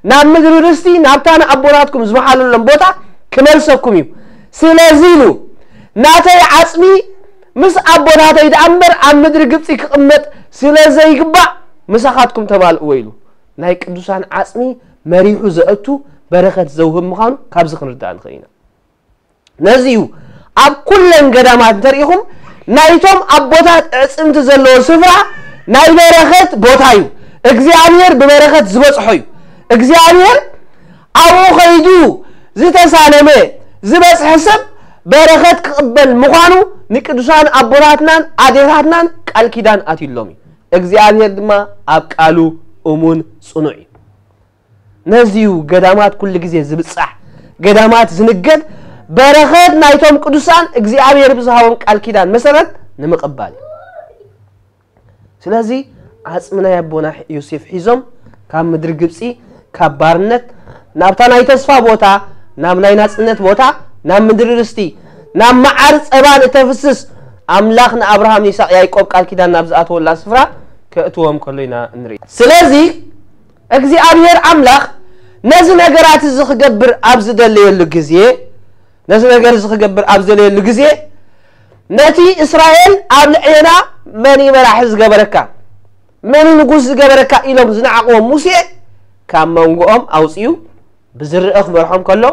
ናብ ምድሪ ርስቲ ናብታ ንኣቦታትኩም ዝመሓለሎም ቦታ ክመልሰኩም እዩ። ስለዚ ኢሉ ናተይ ዓጽሚ ምስ ኣቦታተይ ደኣ እምበር ኣብ ምድሪ ግብጺ ክቕመጥ ስለ ዘይግባእ ምሳኻትኩም ተማልእዎ ኢሉ ናይ ቅዱሳን ዓጽሚ መሪሑ ዘእቱ በረኸት ዘውህብ ምዃኑ ካብዚ ክንርዳእ ንኽእል ኢና። ነዚ እዩ ኣብ ኩለን ገዳማት እንተሪኢኹም ናይቶም ኣቦታት ኣዕጽምቲ ዘለዎ ስፍራ ናይ በረኸት ቦታ እዩ። እግዚኣብሔር ብበረኸት ዝበጽሖ እዩ። እግዚኣብሔር ኣብኡ ኸይዱ ዝተሳለመ ዝበጽሐ ሰብ በረኸት ክቕበል ምዃኑ ንቅዱሳን ኣቦታትናን ኣዴታትናን ቃል ኪዳን ኣትዩሎም እዩ። እግዚኣብሔር ድማ ኣብ ቃሉ እሙን ጽኑዕ እዩ። ነዚ እዩ ገዳማት ኩሉ ግዜ ዝብጻሕ፣ ገዳማት ዝንገድ በረኸት ናይቶም ቅዱሳን እግዚኣብሔር ብዝሃቦም ቃል ኪዳን መሰረት ንምቕባል እዩ። ስለዚ ዓጽሚ ናይ ኣቦና ዮሴፍ ሒዞም ካብ ምድሪ ግብጺ፣ ካብ ባርነት ናብታ ናይ ተስፋ ቦታ፣ ናብ ናይ ናጽነት ቦታ፣ ናብ ምድሪ ርስቲ፣ ናብ መዓር ጸባን እተፍስስ ኣምላኽ ንኣብርሃም፣ ንይስሐቅ፣ ያዕቆብ ቃል ኪዳን ናብ ዝኣተወላ ስፍራ ከእትዎም ከሎ ኢና እንርኢ። ስለዚ እግዚኣብሔር ኣምላኽ ነዚ ነገራት እዚ ክገብር ኣብ ዝደለየሉ ግዜ፣ ነዚ ነገር እዚ ክገብር ኣብ ዝደለየሉ ግዜ ነቲ እስራኤል ኣብ ልዕሌና መን እዩ መራሒ ዝገበረካ፣ መን እዩ ንጉስ ዝገበረካ ኢሎም ዝነዓቕዎም ሙሴ ካብ መንጎኦም ኣውፅኡ ብዝርእ ክመርሖም ከሎ፣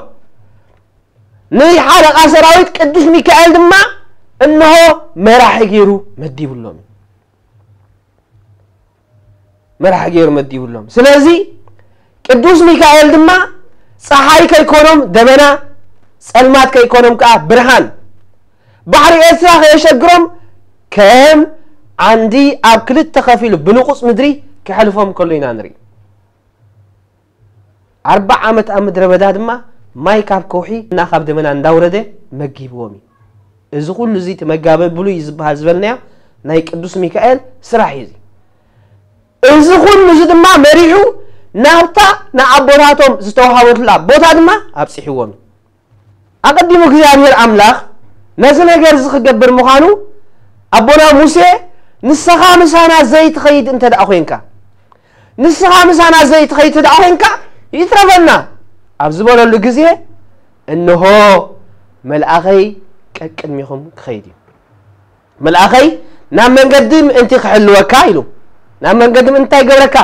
ንሓለቓ ሰራዊት ቅዱስ ሚካኤል ድማ እንሆ መራሒ ገይሩ መዲብሎም እዩ። መራሒ ገይሩ መዲብሎም። ስለዚ ቅዱስ ሚካኤል ድማ ፀሓይ ከይኮኖም ደመና፣ ፀልማት ከይኮኖም ከዓ ብርሃን፣ ባሕሪ ኤርትራ ከየሸግሮም ከም ዓንዲ ኣብ ክልተ ከፊሉ ብንቑፅ ምድሪ ክሕልፎም ከሎ ኢና ንርኢ። ኣርባዓ ዓመት ኣብ ምድረ በዳ ድማ ማይ ካብ ከውሒ እና ካብ ደመና እንዳውረደ መጊብዎም እዩ። እዚ ኩሉ እዚ እቲ መጋቢ ብሉይ ዝበሃል ዝበልናዮ ናይ ቅዱስ ሚካኤል ስራሕ እዩ። እዚ እዚ ኩሉ እዚ ድማ መሪሑ ናብታ ንኣቦታቶም ዝተዋሃበትላ ቦታ ድማ ኣብፂሕዎም እዩ። ኣቐዲሙ እግዚኣብሔር ኣምላኽ ነዚ ነገር እዚ ክገብር ምዃኑ ኣቦና ሙሴ፣ ንስኻ ምሳና ዘይትኸይድ እንተ ደኣ ኾይንካ፣ ንስኻ ምሳና ዘይትኸይድ እንተ ደኣ ኾይንካ ይትረፈና ኣብ ዝበለሉ ግዜ፣ እንሆ መልኣኸይ ቀቅድሚኹም ክኸይድ እዩ። መልኣኸይ ናብ መንገዲ ምእንቲ ክሕልወካ ኢሉ። ናብ መንገዲ ምእንቲ እንታይ ይገብረካ?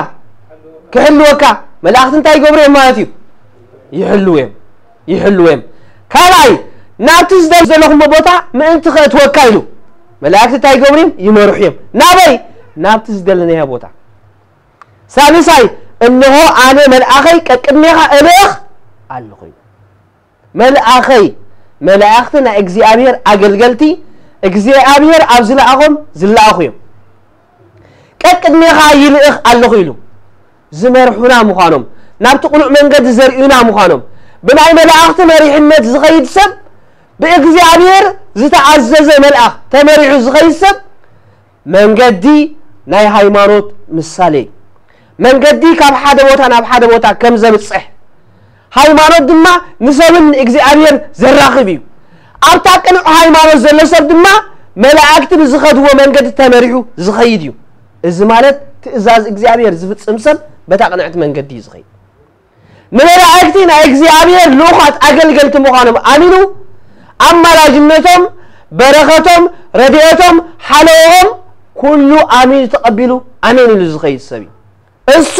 ክሕልወካ። መላእኽቲ እንታይ ይገብሩ እዮም ማለት እዩ? ይሕልዉ እዮም። ይሕልዉ እዮም። ካልኣይ፣ ናብቲ ዝደል ዘለኹሞ ቦታ ምእንቲ ከእትወካ ኢሉ። መላእኽቲ እንታይ ይገብሩ እዮም? ይመርሑ እዮም። ናበይ? ናብቲ ዝደለናዮ ቦታ። ሳልሳይ፣ እንሆ ኣነ መልኣኸይ ቀቅድሜኻ እልእኽ ኣለኹ ኢሉ። መልኣኸይ፣ መላእኽቲ ናይ እግዚኣብሔር ኣገልገልቲ፣ እግዚኣብሔር ኣብ ዝለኣኾም ዝለኣኹ እዮም። ቀቅድሜኻ ይልእኽ ኣለኹ ኢሉ ዝመርሑና ምዃኖም፣ ናብቲ ቅኑዕ መንገዲ ዘርእዩና ምዃኖም፣ ብናይ መላእኽቲ መሪሕነት ዝኸይድ ሰብ፣ ብእግዚኣብሔር ዝተኣዘዘ መልኣኽ ተመሪሑ ዝኸይድ ሰብ፣ መንገዲ ናይ ሃይማኖት ምሳሌ እዩ። መንገዲ ካብ ሓደ ቦታ ናብ ሓደ ቦታ ከም ዘብጽሕ፣ ሃይማኖት ድማ ንሰብን ንእግዚኣብሔር ዘራኽብ እዩ። ኣብታ ቅኑዕ ሃይማኖት ዘሎ ሰብ ድማ መላእክቲ ብዝኸድዎ መንገዲ ተመሪሑ ዝኸይድ እዩ። እዚ ማለት ትእዛዝ እግዚኣብሔር ዝፍጽም ሰብ በታ ቅንዕቲ መንገዲ እዩ ዝኸይድ። ንመላእክቲ ናይ እግዚኣብሔር ልኡኻት ኣገልገልቲ ምዃኖም ኣሚኑ፣ ኣማላጅነቶም፣ በረኸቶም፣ ረድኤቶም፣ ሓለዎም ኩሉ ኣሚኑ ተቐቢሉ ኣሜን ኢሉ ዝኸይድ ሰብ እዩ። እሱ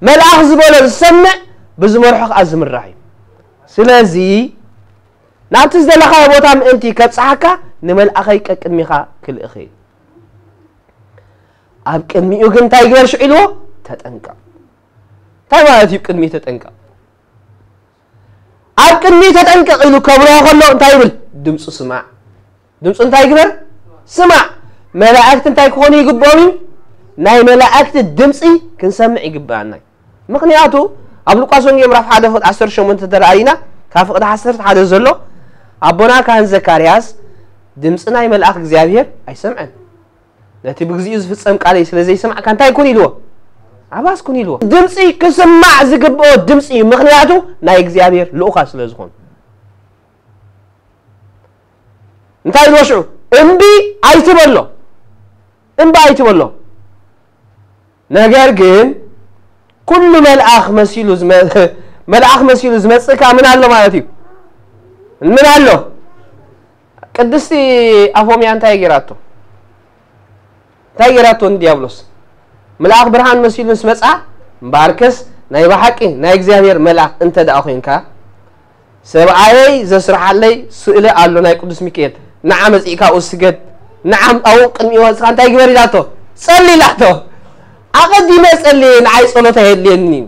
መልኣኽ ዝበሎ ዝሰምዕ፣ ብዝመርሖ ኸዓ ዝምራሕ እዩ። ስለዚ ናብቲ ዝደለኻዮ ቦታ ምእንቲ ከብጽሓካ ንመልኣኸይ ቀቅድሚኻ ክልእኽ እየ። ኣብ ቅድሚኡ ግን እንታይ ግበር ሽዑ ኢልዎ? ተጠንቀቕ። እንታይ ማለት እዩ ቅድሚኡ ተጠንቀቕ? ኣብ ቅድሚኡ ተጠንቀቕ ኢሉ ከብርሆ ከሎ እንታይ ይብል? ድምፁ ስማዕ። ድምፁ እንታይ ይግበር? ስማዕ። መላእክቲ እንታይ ክኾኑ ይግብኦም እዩ? ናይ መላእክቲ ድምፂ ክንሰምዕ ይግብኣና እዩ። ምኽንያቱ ኣብ ሉቃስ ወንጌል ምዕራፍ ሓደ ፍቕዲ ዓሰርተ ሸሞንተ ተረኣይና፣ ካብ ፍቕዲ ዓሰርተ ሓደ ዘሎ ኣቦና ካህን ዘካርያስ ድምፂ ናይ መልኣኽ እግዚኣብሔር ኣይሰምዐን። ነቲ ብግዚኡ ዝፍጸም ቃለይ ስለ ዘይሰማዕካ እንታይ ኩን ኢልዎ? ኣባስ ኩን ኢልዎ። ድምፂ ክስማዕ ዝግብኦ ድምፂ እዩ፣ ምኽንያቱ ናይ እግዚኣብሔር ልኡኻ ስለ ዝኾኑ። እንታይ ኢልዎ ሽዑ? እምቢ ኣይትበሎ፣ እምቢ ኣይትበሎ። ነገር ግን ኩሉ መልኣኽ መሲሉ ዝመ-፣ መልኣኽ መሲሉ ዝመጽእካ ምን ኣሎ ማለት እዩ? ምን ኣሎ? ቅድስቲ ኣፎምያ እንታይ ገይራቶ? እንታይ ገይራቶ ንዲያብሎስ? መልኣኽ ብርሃን መሲሉ ምስ መጽኣ፣ እምበኣርከስ ናይ ብሓቂ ናይ እግዚኣብሔር መልኣኽ እንተ ደኣ ኾይንካ፣ ሰብኣየይ ዘስርሓለይ ስእሊ ኣሎ ናይ ቅዱስ ሚካኤል፣ ንዓ መጺእካ ኣብኡ ስገድ፣ ንዓ ኣብኡ ቅድሚኡ ወጺእካ እንታይ ግበር ኢላቶ? ጸሊ ኢላቶ። ኣቐዲመ ጸልየ ንዓይ ጸሎት ኣየድልየንን እዩ።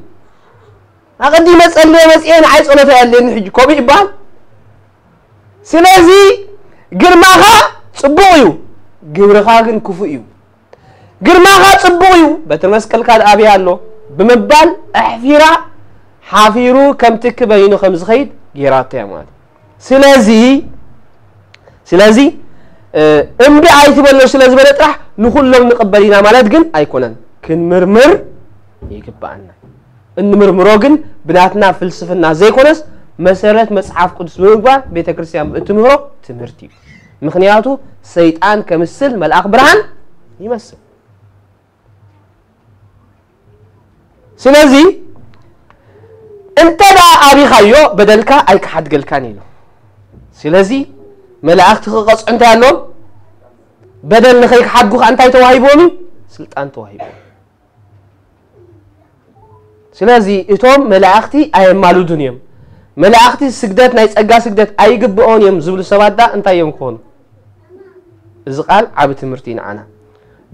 ኣቐዲመ ጸልየ መጺኤ ንዓይ ጸሎት ኣየድልየንን ሕጂ ከምኡ ይበሃል? ስለዚ ግርማኻ ጽቡቕ እዩ፣ ግብርኻ ግን ክፉእ እዩ። ግርማኻ ጽቡቕ እዩ፣ በትረ መስቀልካ ደኣ ኣበይ ኣሎ ብምባል ኣሕፊራ ሓፊሩ ከም ትኪ በይኑ ከም ዝኸይድ ገይራቶ እያ ማለት እዩ። ስለዚ ስለዚ እ፣ እምቢ ኣይትበሎ ስለ ዝበለ ጥራሕ ንኹሎም ንቕበል ኢና ማለት ግን ኣይኮነን። ክንምርምር ይግብኣና። እንምርምሮ ግን ብናትና ፍልስፍና ዘይኮነስ መሰረት መጽሓፍ ቅዱስ ብምግባር ቤተ ክርስቲያን እትምህሮ ትምህርቲ እዩ። ምኽንያቱ ሰይጣን ከምስል መልኣኽ ብርሃን ይመስል። ስለዚ እንተ ደኣ ኣቢኻዮ በደልካ ኣይክሓድገልካን ኢሉ። ስለዚ መላእኽቲ ክቐጽዑ እንታይ ኣለዎም? በደል ንኸይሓድጉ ከኣ እንታይ ተዋሂብዎም እዩ? ስልጣን ተዋሂብዎም። ስለዚ እቶም መላእኽቲ ኣየማልዱን እዮም። መላእኽቲ ስግደት፣ ናይ ጸጋ ስግደት ኣይግብኦን እዮም ዝብሉ ሰባት ዳ እንታይ እዮም ክኾኑ? እዚ ቃል ዓቢ ትምህርቲ እዩ ንዓና።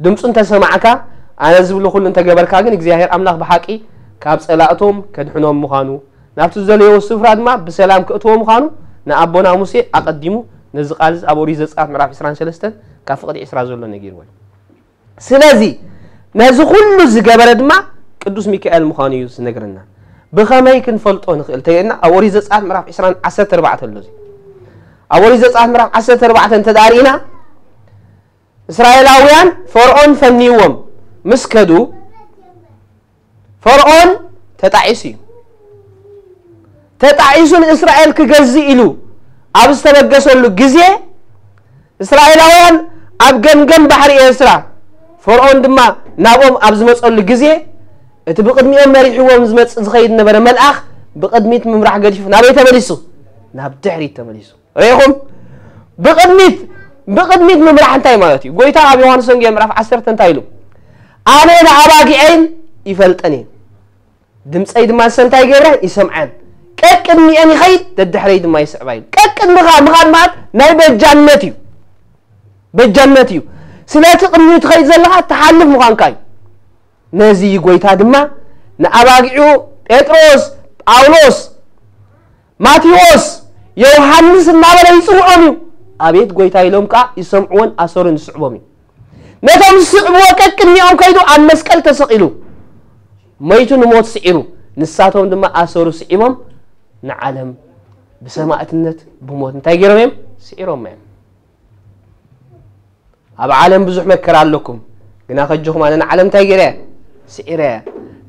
ድምፁ እንተሰማዕካ፣ ኣነ ዝብሎ ኩሉ እንተገበርካ ግን እግዚኣብሔር ኣምላኽ ብሓቂ ካብ ጸላእቶም ከድሕኖም ምዃኑ፣ ናብቲ ዝደለዮ ስፍራ ድማ ብሰላም ክእትዎ ምዃኑ ንኣቦና ሙሴ ኣቐዲሙ ነዚ ቃል እዚ ኣብ ኦሪት ዘጸኣት ምዕራፍ ዕስራን ሰለስተን ካብ ፍቕዲ ዕስራ ዘሎ ነጊርዎ እዩ። ስለዚ ነዚ ኩሉ ዝገበረ ድማ ቅዱስ ሚካኤል ምዃኑ እዩ ዝነግረና። ብኸመይ ክንፈልጦ ንኽእል ተይልና ኣብ ኦሪት ዘጸኣት ምዕራፍ ዕስራን ዓሰርተ ኣርባዕተ ኣሎ እዚ። ኣብ ኦሪት ዘጸኣት ምዕራፍ ዓሰርተ ኣርባዕተ እንተ ደኣ ርኢና እስራኤላውያን ፈርዖን ፈንይዎም ምስ ከዱ ፈርዖን ተጣዒሱ እዩ። ተጣዒሱ ንእስራኤል ክገዝእ ኢሉ ኣብ ዝተበገሰሉ ግዜ እስራኤላውያን ኣብ ገምገም ባሕሪ ኤርትራ ፈርዖን ድማ ናብኦም ኣብ ዝመጸሉ ግዜ እቲ ብቕድሚኦም መሪሕዎም ዝመጽእ ዝኸይድ ነበረ መልኣኽ ብቕድሚት ምምራሕ ገዲፉ ናበይ ተመሊሱ? ናብ ድሕሪት ተመሊሱ። ርኢኹም? ብቕድሚት ብቕድሚት ምምራሕ እንታይ ማለት እዩ? ጎይታ ኣብ ዮሃንስ ወንጌል ምዕራፍ ዓሰርተ እንታይ ኢሉ? ኣነ ንኣባጊዐይን ይፈልጠን እየ፣ ድምፀይ ድማ ንሰን እንታይ ይገብረን? ይሰምዐን። ቀቅድሚአን ይኸይድ፣ ደድሕረይ ድማ ይስዕባ ኢሉ። ቀቅድምኻ ምኻድ ማለት ናይ በጃነት እዩ። በጃነት እዩ። ስለቲ ቅድሚኡ ትኸይድ ዘለኻ ትሓልፍ ምዃንካ እዩ። ነዚ ጎይታ ድማ ንኣባጊዑ ጴጥሮስ፣ ጳውሎስ፣ ማቴዎስ፣ ዮሃንስ እናበለ ይጽውዖም እዩ። ኣቤት ጎይታ ኢሎም ከኣ ይሰምዕዎን ኣሰሩን ይስዕቦም እዩ። ነቶም ዝስዕብዎ ቀቅድሚኦም ከይዱ ኣብ መስቀል ተሰቒሉ መይቱ ንሞት ስዒሩ፣ ንሳቶም ድማ ኣሰሩ ስዒቦም ንዓለም ብሰማእትነት ብሞት እንታይ ገይሮም እዮም? ስዒሮም እዮም። ኣብ ዓለም ብዙሕ መከራ ኣለኩም፣ ግና ከጆኹም ኣነ ንዓለም እንታይ ገይረ? ስዒረ።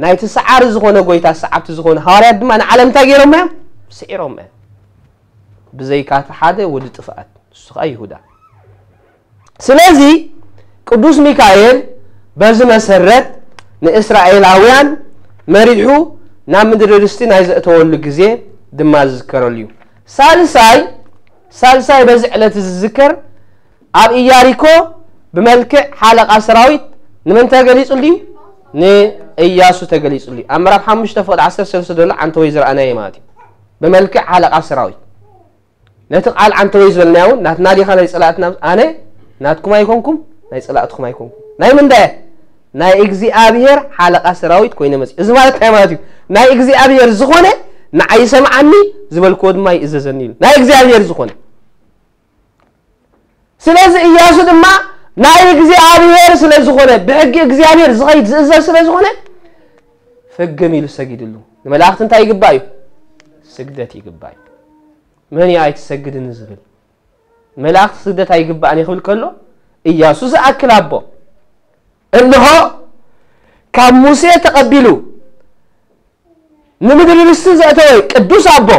ናይቲ ሰዓሪ ዝኾነ ጎይታ ሰዓብቲ ዝኾነ ሃዋርያት ድማ ንዓለም እንታይ ገይሮም እዮም? ስዒሮም እዮም። ብዘይካ እቲ ሓደ ወዲ ጥፍኣት፣ ንሱ ኸኣ ይሁዳ። ስለዚ ቅዱስ ሚካኤል በዚ መሰረት ንእስራኤላውያን መሪሑ ናብ ምድሪ ርስቲ ናይ ዘእተወሉ ግዜ ድማ ዝዝከረሉ እዩ። ሳልሳይ ሳልሳይ በዚ ዕለት ዝዝከር ኣብ ኢያሪኮ ብመልክዕ ሓለቓ ሰራዊት ንመን ተገሊጹሉ እዩ? ንእያሱ ተገሊጹሉ እዩ። ኣብ ምዕራፍ ሓሙሽተ ፍቕዲ ዓሰርተ ሰለስተ ዘሎ ዓንተወይ ዝረኣናዮ ማለት እዩ። ብመልክዕ ሓለቓ ሰራዊት ነቲ ቃል ዓንተወይ ዝበልናዮ እውን ናትና ዲኻ ናይ ጸላእትና? ኣነ ናትኩም ኣይኮንኩም ናይ ጸላእትኩም ኣይኮንኩም። ናይ ምንዳየ? ናይ እግዚኣብሔር ሓለቓ ሰራዊት ኮይነ መጽእ። እዚ ማለት እንታይ ማለት እዩ? ናይ እግዚኣብሔር ዝኾነ ንዓይ ይሰምዓኒ፣ ዝበልክዎ ድማ ይእዘዘኒ ኢሉ። ናይ እግዚኣብሔር ዝኾነ። ስለዚ እያሱ ድማ ናይ እግዚኣብሔር ስለ ዝኾነ፣ ብሕጊ እግዚኣብሔር ዝኸይድ ዝእዘዝ ስለ ዝኾነ ፍግም ኢሉ ሰጊድሉ። ንመላእኽቲ እንታይ ይግባእ እዩ? ስግደት ይግባእ እዩ። መን እዩ ኣይትሰግድን ዝብል? መላእኽቲ ስግደት ኣይግባእን እዩ ክብል ከሎ እያሱ ዝኣክል ኣቦ እንሆ ካብ ሙሴ ተቐቢሉ ንምድሪ ርስቲ ዘእተወ ቅዱስ ኣቦ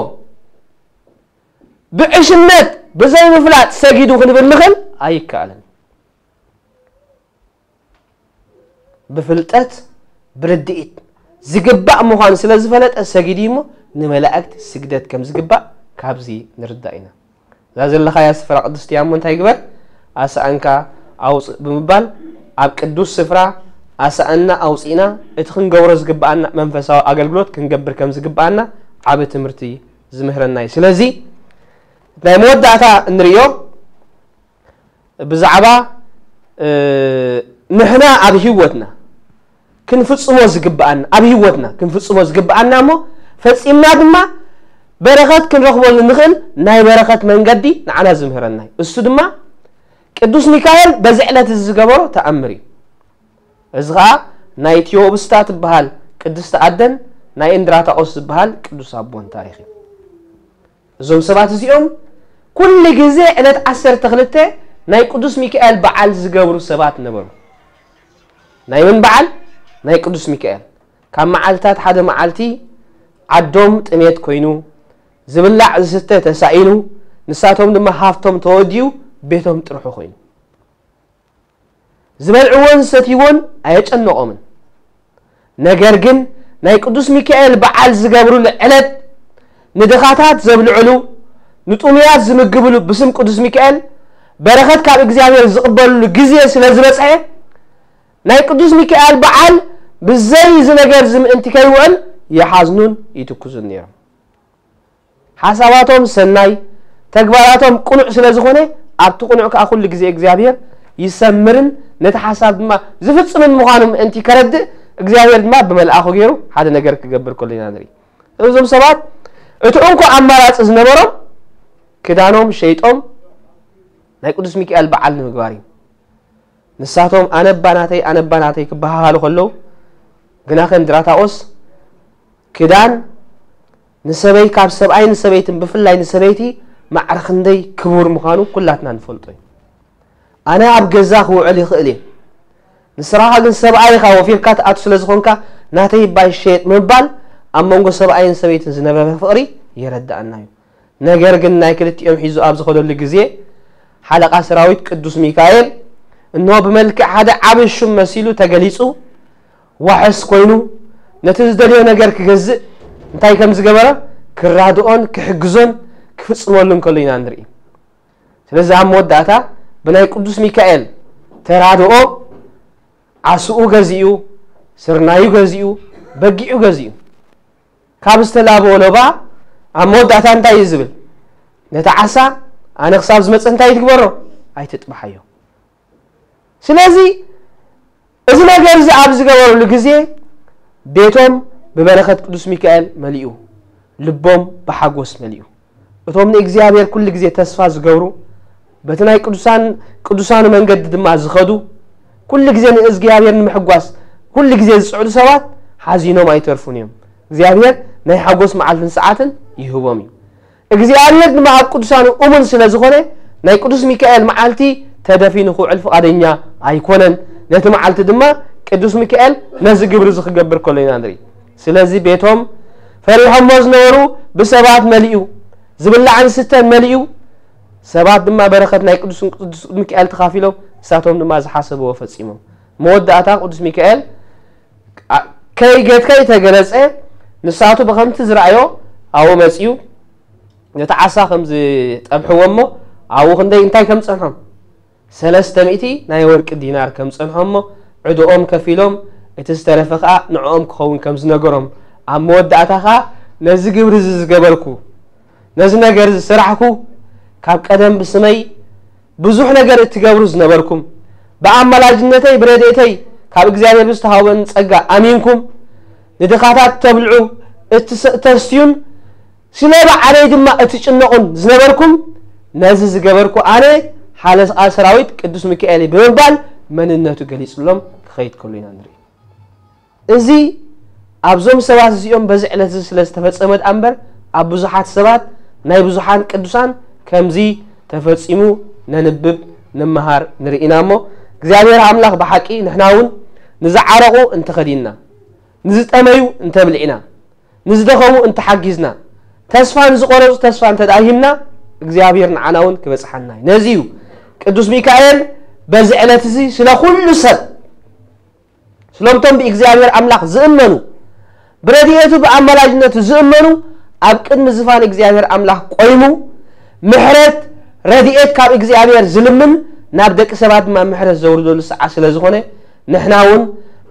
ብዕሽነት ብዘይምፍላጥ ሰጊዱ ክንብል ንኽእል ኣይከኣልን። ብፍልጠት ብርድኢት ዝግባእ ምዃኑ ስለ ዝፈለጠ ሰጊዱ እሞ ንመላእክት ስግደት ከም ዝግባእ ካብዚ ንርዳእ ኢና። እዛ ዘለኻያ ስፍራ ቅድስቲ እያ እሞ እንታይ ግበር? ኣሳእንካ ኣውፅእ ብምባል ኣብ ቅዱስ ስፍራ ኣሳእና ኣውፂእና እቲ ክንገብሮ ዝግባኣና መንፈሳዊ ኣገልግሎት ክንገብር ከም ዝግባኣና ዓቢ ትምህርቲ ዝምህረና እዩ። ስለዚ ናይ መወዳእታ እንሪኦ ብዛዕባ ንሕና ኣብ ህይወትና ክንፍጽሞ ዝግብኣና ኣብ ህይወትና ክንፍጽሞ ዝግብኣና እሞ ፈጺምና ድማ በረኸት ክንረኽበሉ ንኽእል ናይ በረኸት መንገዲ ንዓና ዝምህረና እዩ። እሱ ድማ ቅዱስ ሚካኤል በዚ ዕለት እዚ ዝገበሮ ተኣምር እዩ። እዚ ኸኣ ናይ ቲዮብስታ ትበሃል ቅድስቲ ኣደን ናይ እንድራታቆስ ዝበሃል ቅዱስ ኣቦን ታሪኽ እዩ። እዞም ሰባት እዚኦም ኩሉ ግዜ ዕለት ዓሰርተ ክልተ ናይ ቅዱስ ሚካኤል በዓል ዝገብሩ ሰባት ነበሩ። ናይ መን በዓል? ናይ ቅዱስ ሚካኤል። ካብ መዓልታት ሓደ መዓልቲ ዓዶም ጥሜት ኮይኑ፣ ዝብላዕ ዝስተ ተሳኢኑ፣ ንሳቶም ድማ ሃፍቶም ተወዲኡ፣ ቤቶም ጥርሑ ኮይኑ። ዝበልዕዎን ዝሰትይዎን ኣየጨነቖምን። ነገር ግን ናይ ቅዱስ ሚካኤል በዓል ዝገብሩሉ ዕለት ንድኻታት ዘብልዕሉ፣ ንጥሙያት ዝምግብሉ ብስም ቅዱስ ሚካኤል በረኸት ካብ እግዚኣብሔር ዝቕበልሉ ግዜ ስለ ዝበጽሐ፣ ናይ ቅዱስ ሚካኤል በዓል ብዘይ እዚ ነገር እዚ ምእንቲ ከይውዕል ይሓዝኑን ይትኩዙን ነይሮም። ሓሳባቶም ሰናይ፣ ተግባራቶም ቅኑዕ ስለ ዝኾነ፣ ኣብቲ ቅኑዕ ከኣ ኩሉ ግዜ እግዚኣብሔር ይሰምርን ነቲ ሓሳብ ድማ ዝፍጽምን ምዃኑ ምእንቲ ከረድእ፣ እግዚኣብሔር ድማ ብመልኣኹ ገይሩ ሓደ ነገር ክገብር ከሎ ኢና ንርኢ። እዞም ሰባት እቲ እንኮ ኣማራጺ ዝነበሮም ክዳኖም ሸይጦም ናይ ቅዱስ ሚካኤል በዓል ንምግባር እዩ። ንሳቶም ኣነ እባ ናተይ፣ ኣነ እባ ናተይ ክበሃሃሉ ከለዉ፣ ግናኸ እንድራታኦስ ክዳን ንሰበይ፣ ካብ ሰብኣይ ንሰበይትን ብፍላይ ንሰበይቲ ማዕረ ክንደይ ክቡር ምዃኑ ኩላትና ንፈልጦ እዩ። ኣነ ኣብ ገዛ ክውዕል ይኽእል እየ፣ ንስኻ ግን ሰብኣይ ኢኻ፣ ወፊርካ ትኣቱ ስለ ዝኾንካ ናተይ እባ ይሸየጥ ምባል ኣብ መንጎ ሰብኣይን ሰበይትን ዝነበረ ፍቕሪ የረድኣና እዩ። ነገር ግን ናይ ክልቲኦም ሒዙ ኣብ ዝኸደሉ ግዜ ሓለቓ ሰራዊት ቅዱስ ሚካኤል እንሆ ብመልክዕ ሓደ ዓቢ ሹም መሲሉ ተገሊጹ፣ ዋሕስ ኮይኑ ነቲ ዝደልዮ ነገር ክገዝእ እንታይ ከም ዝገበረ ክራድኦን ክሕግዞን ክፍጽመሉን ከሎ ኢና ንርኢ። ስለዚ ኣብ መወዳእታ ብናይ ቅዱስ ሚካኤል ተራድኦ ዓስኡ ገዚኡ፣ ስርናዩ ገዚኡ፣ በጊዑ ገዚኡ። ካብ ዝተላበወ ሎባ ኣብ መወዳእታ እንታይ እዩ ዝብል? ነቲ ዓሳ ኣነ ክሳብ ዝመጽእ እንታይ ትግበሮ? ኣይትጥብሓዮ። ስለዚ እዚ ነገር እዚ ኣብ ዝገበሩሉ ግዜ ቤቶም ብበረኸት ቅዱስ ሚካኤል መሊኡ፣ ልቦም ብሓጎስ መሊኡ። እቶም ንእግዚኣብሔር ኩሉ ግዜ ተስፋ ዝገብሩ፣ በቲ ናይ ቅዱሳን ቅዱሳኑ መንገዲ ድማ ዝኸዱ፣ ኩሉ ግዜ ንእግዚኣብሔር ንምሕጓስ ኩሉ ግዜ ዝጽዕሩ ሰባት ሓዚኖም ኣይተርፉን እዮም። እግዚኣብሔር ናይ ሓጎስ መዓልትን ሰዓትን ይህቦም እዩ። እግዚኣብሔር ድማ ኣብ ቅዱሳኑ እሙን ስለ ዝኾነ ናይ ቅዱስ ሚካኤል መዓልቲ ተደፊኑ ክውዕል ፍቓደኛ ኣይኮነን። ነቲ መዓልቲ ድማ ቅዱስ ሚካኤል ነዚ ግብሪ እዚ ክገብር ከሎ ኢና ንርኢ። ስለዚ ቤቶም ፈሪሖሞ ዝነበሩ ብሰባት መሊኡ፣ ዝብላዕን ስተን መሊኡ፣ ሰባት ድማ በረኸት ናይ ቅዱስ ቅዱስ ሚካኤል ተኻፊሎም ንሳቶም ድማ ዝሓሰብዎ ፈጺሞም። መወዳእታ ቅዱስ ሚካኤል ከይገት ከይተገለጸ ንሳቱ ብኸምቲ ዝረኣዮ ኣብኡ መጺኡ ነቲ ዓሳ ከም ዝጠብሕዎ እሞ ኣብኡ ክንደይ እንታይ ከም ጸንሖም ሰለስተ ሚእቲ ናይ ወርቂ ዲናር ከም ጸንሖም እሞ ዕድኦም ከፊሎም እቲ ዝተረፈ ከኣ ንዕኦም ክኸውን ከም ዝነገሮም ኣብ መወዳእታ ከኣ ነዚ ግብሪ እዚ ዝገበርኩ ነዚ ነገር እዚ ዝሰራሕኩ ካብ ቀደም ብስመይ ብዙሕ ነገር እትገብሩ ዝነበርኩም ብኣማላጅነተይ ብረድኤተይ ካብ እግዚኣብሔር ብዝተሃበኒ ጸጋ ኣሚንኩም ንድኻታት ተብልዑ እትሰ- ተስትዩን ስለ ባዕለይ ድማ እትጭነቑን ዝነበርኩም ነዚ ዝገበርኩ ኣነ ሓለቃ ሰራዊት ቅዱስ ሚካኤል እየ ብምባል መንነቱ ገሊጽሎም ክኸይድ ከሎ ኢና ንርኢ። እዚ ኣብዞም ሰባት እዚኦም በዚ ዕለት እዚ ስለ ዝተፈጸመ ደኣ እምበር ኣብ ብዙሓት ሰባት ናይ ብዙሓን ቅዱሳን ከምዚ ተፈጺሙ ነንብብ ንመሃር ንርኢ ኢና እሞ እግዚኣብሔር ኣምላኽ ብሓቂ ንሕና እውን ንዝዓረቑ እንተኸዲንና ንዝጠመዩ እንተብልዕና ንዝደኸሙ እንተሓጊዝና ተስፋ ንዝቆረጹ ተስፋ እንተ ደኣ ሂብና እግዚኣብሔር ንዓና እውን ክበጽሓና እዩ። ነዚ እዩ ቅዱስ ሚካኤል በዚ ዕለት እዚ ስለ ኩሉ ሰብ ስለምቶም ብእግዚኣብሔር ኣምላኽ ዝእመኑ ብረድኤቱ ብኣማላጅነቱ ዝእመኑ ኣብ ቅድሚ ዝፋን እግዚኣብሔር ኣምላኽ ቆይሙ ምሕረት ረድኤት ካብ እግዚኣብሔር ዝልምን ናብ ደቂ ሰባት ድማ ምሕረት ዘውርደሉ ሰዓት ስለ ዝኾነ ንሕና እውን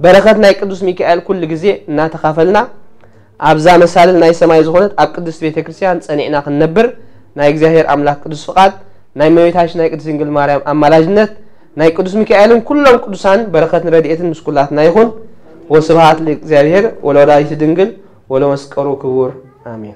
በረኸት ናይ ቅዱስ ሚካኤል ኩሉ ግዜ እናተኻፈልና ኣብዛ መሳልል ናይ ሰማይ ዝኾነት ኣብ ቅድስት ቤተ ክርስቲያን ጸኒዕና ክንነብር ናይ እግዚኣብሔር ኣምላኽ ቅዱስ ፍቓድ ናይ እመቤታችን ናይ ቅድስት ድንግል ማርያም ኣማላጅነት ናይ ቅዱስ ሚካኤልን ኩሎም ቅዱሳን በረኸትን ረድኤትን ምስ ኩላትና ይኹን። ወስብሐት ለእግዚኣብሔር ወለወላዲቱ ድንግል ወለመስቀሉ ክቡር ኣሜን።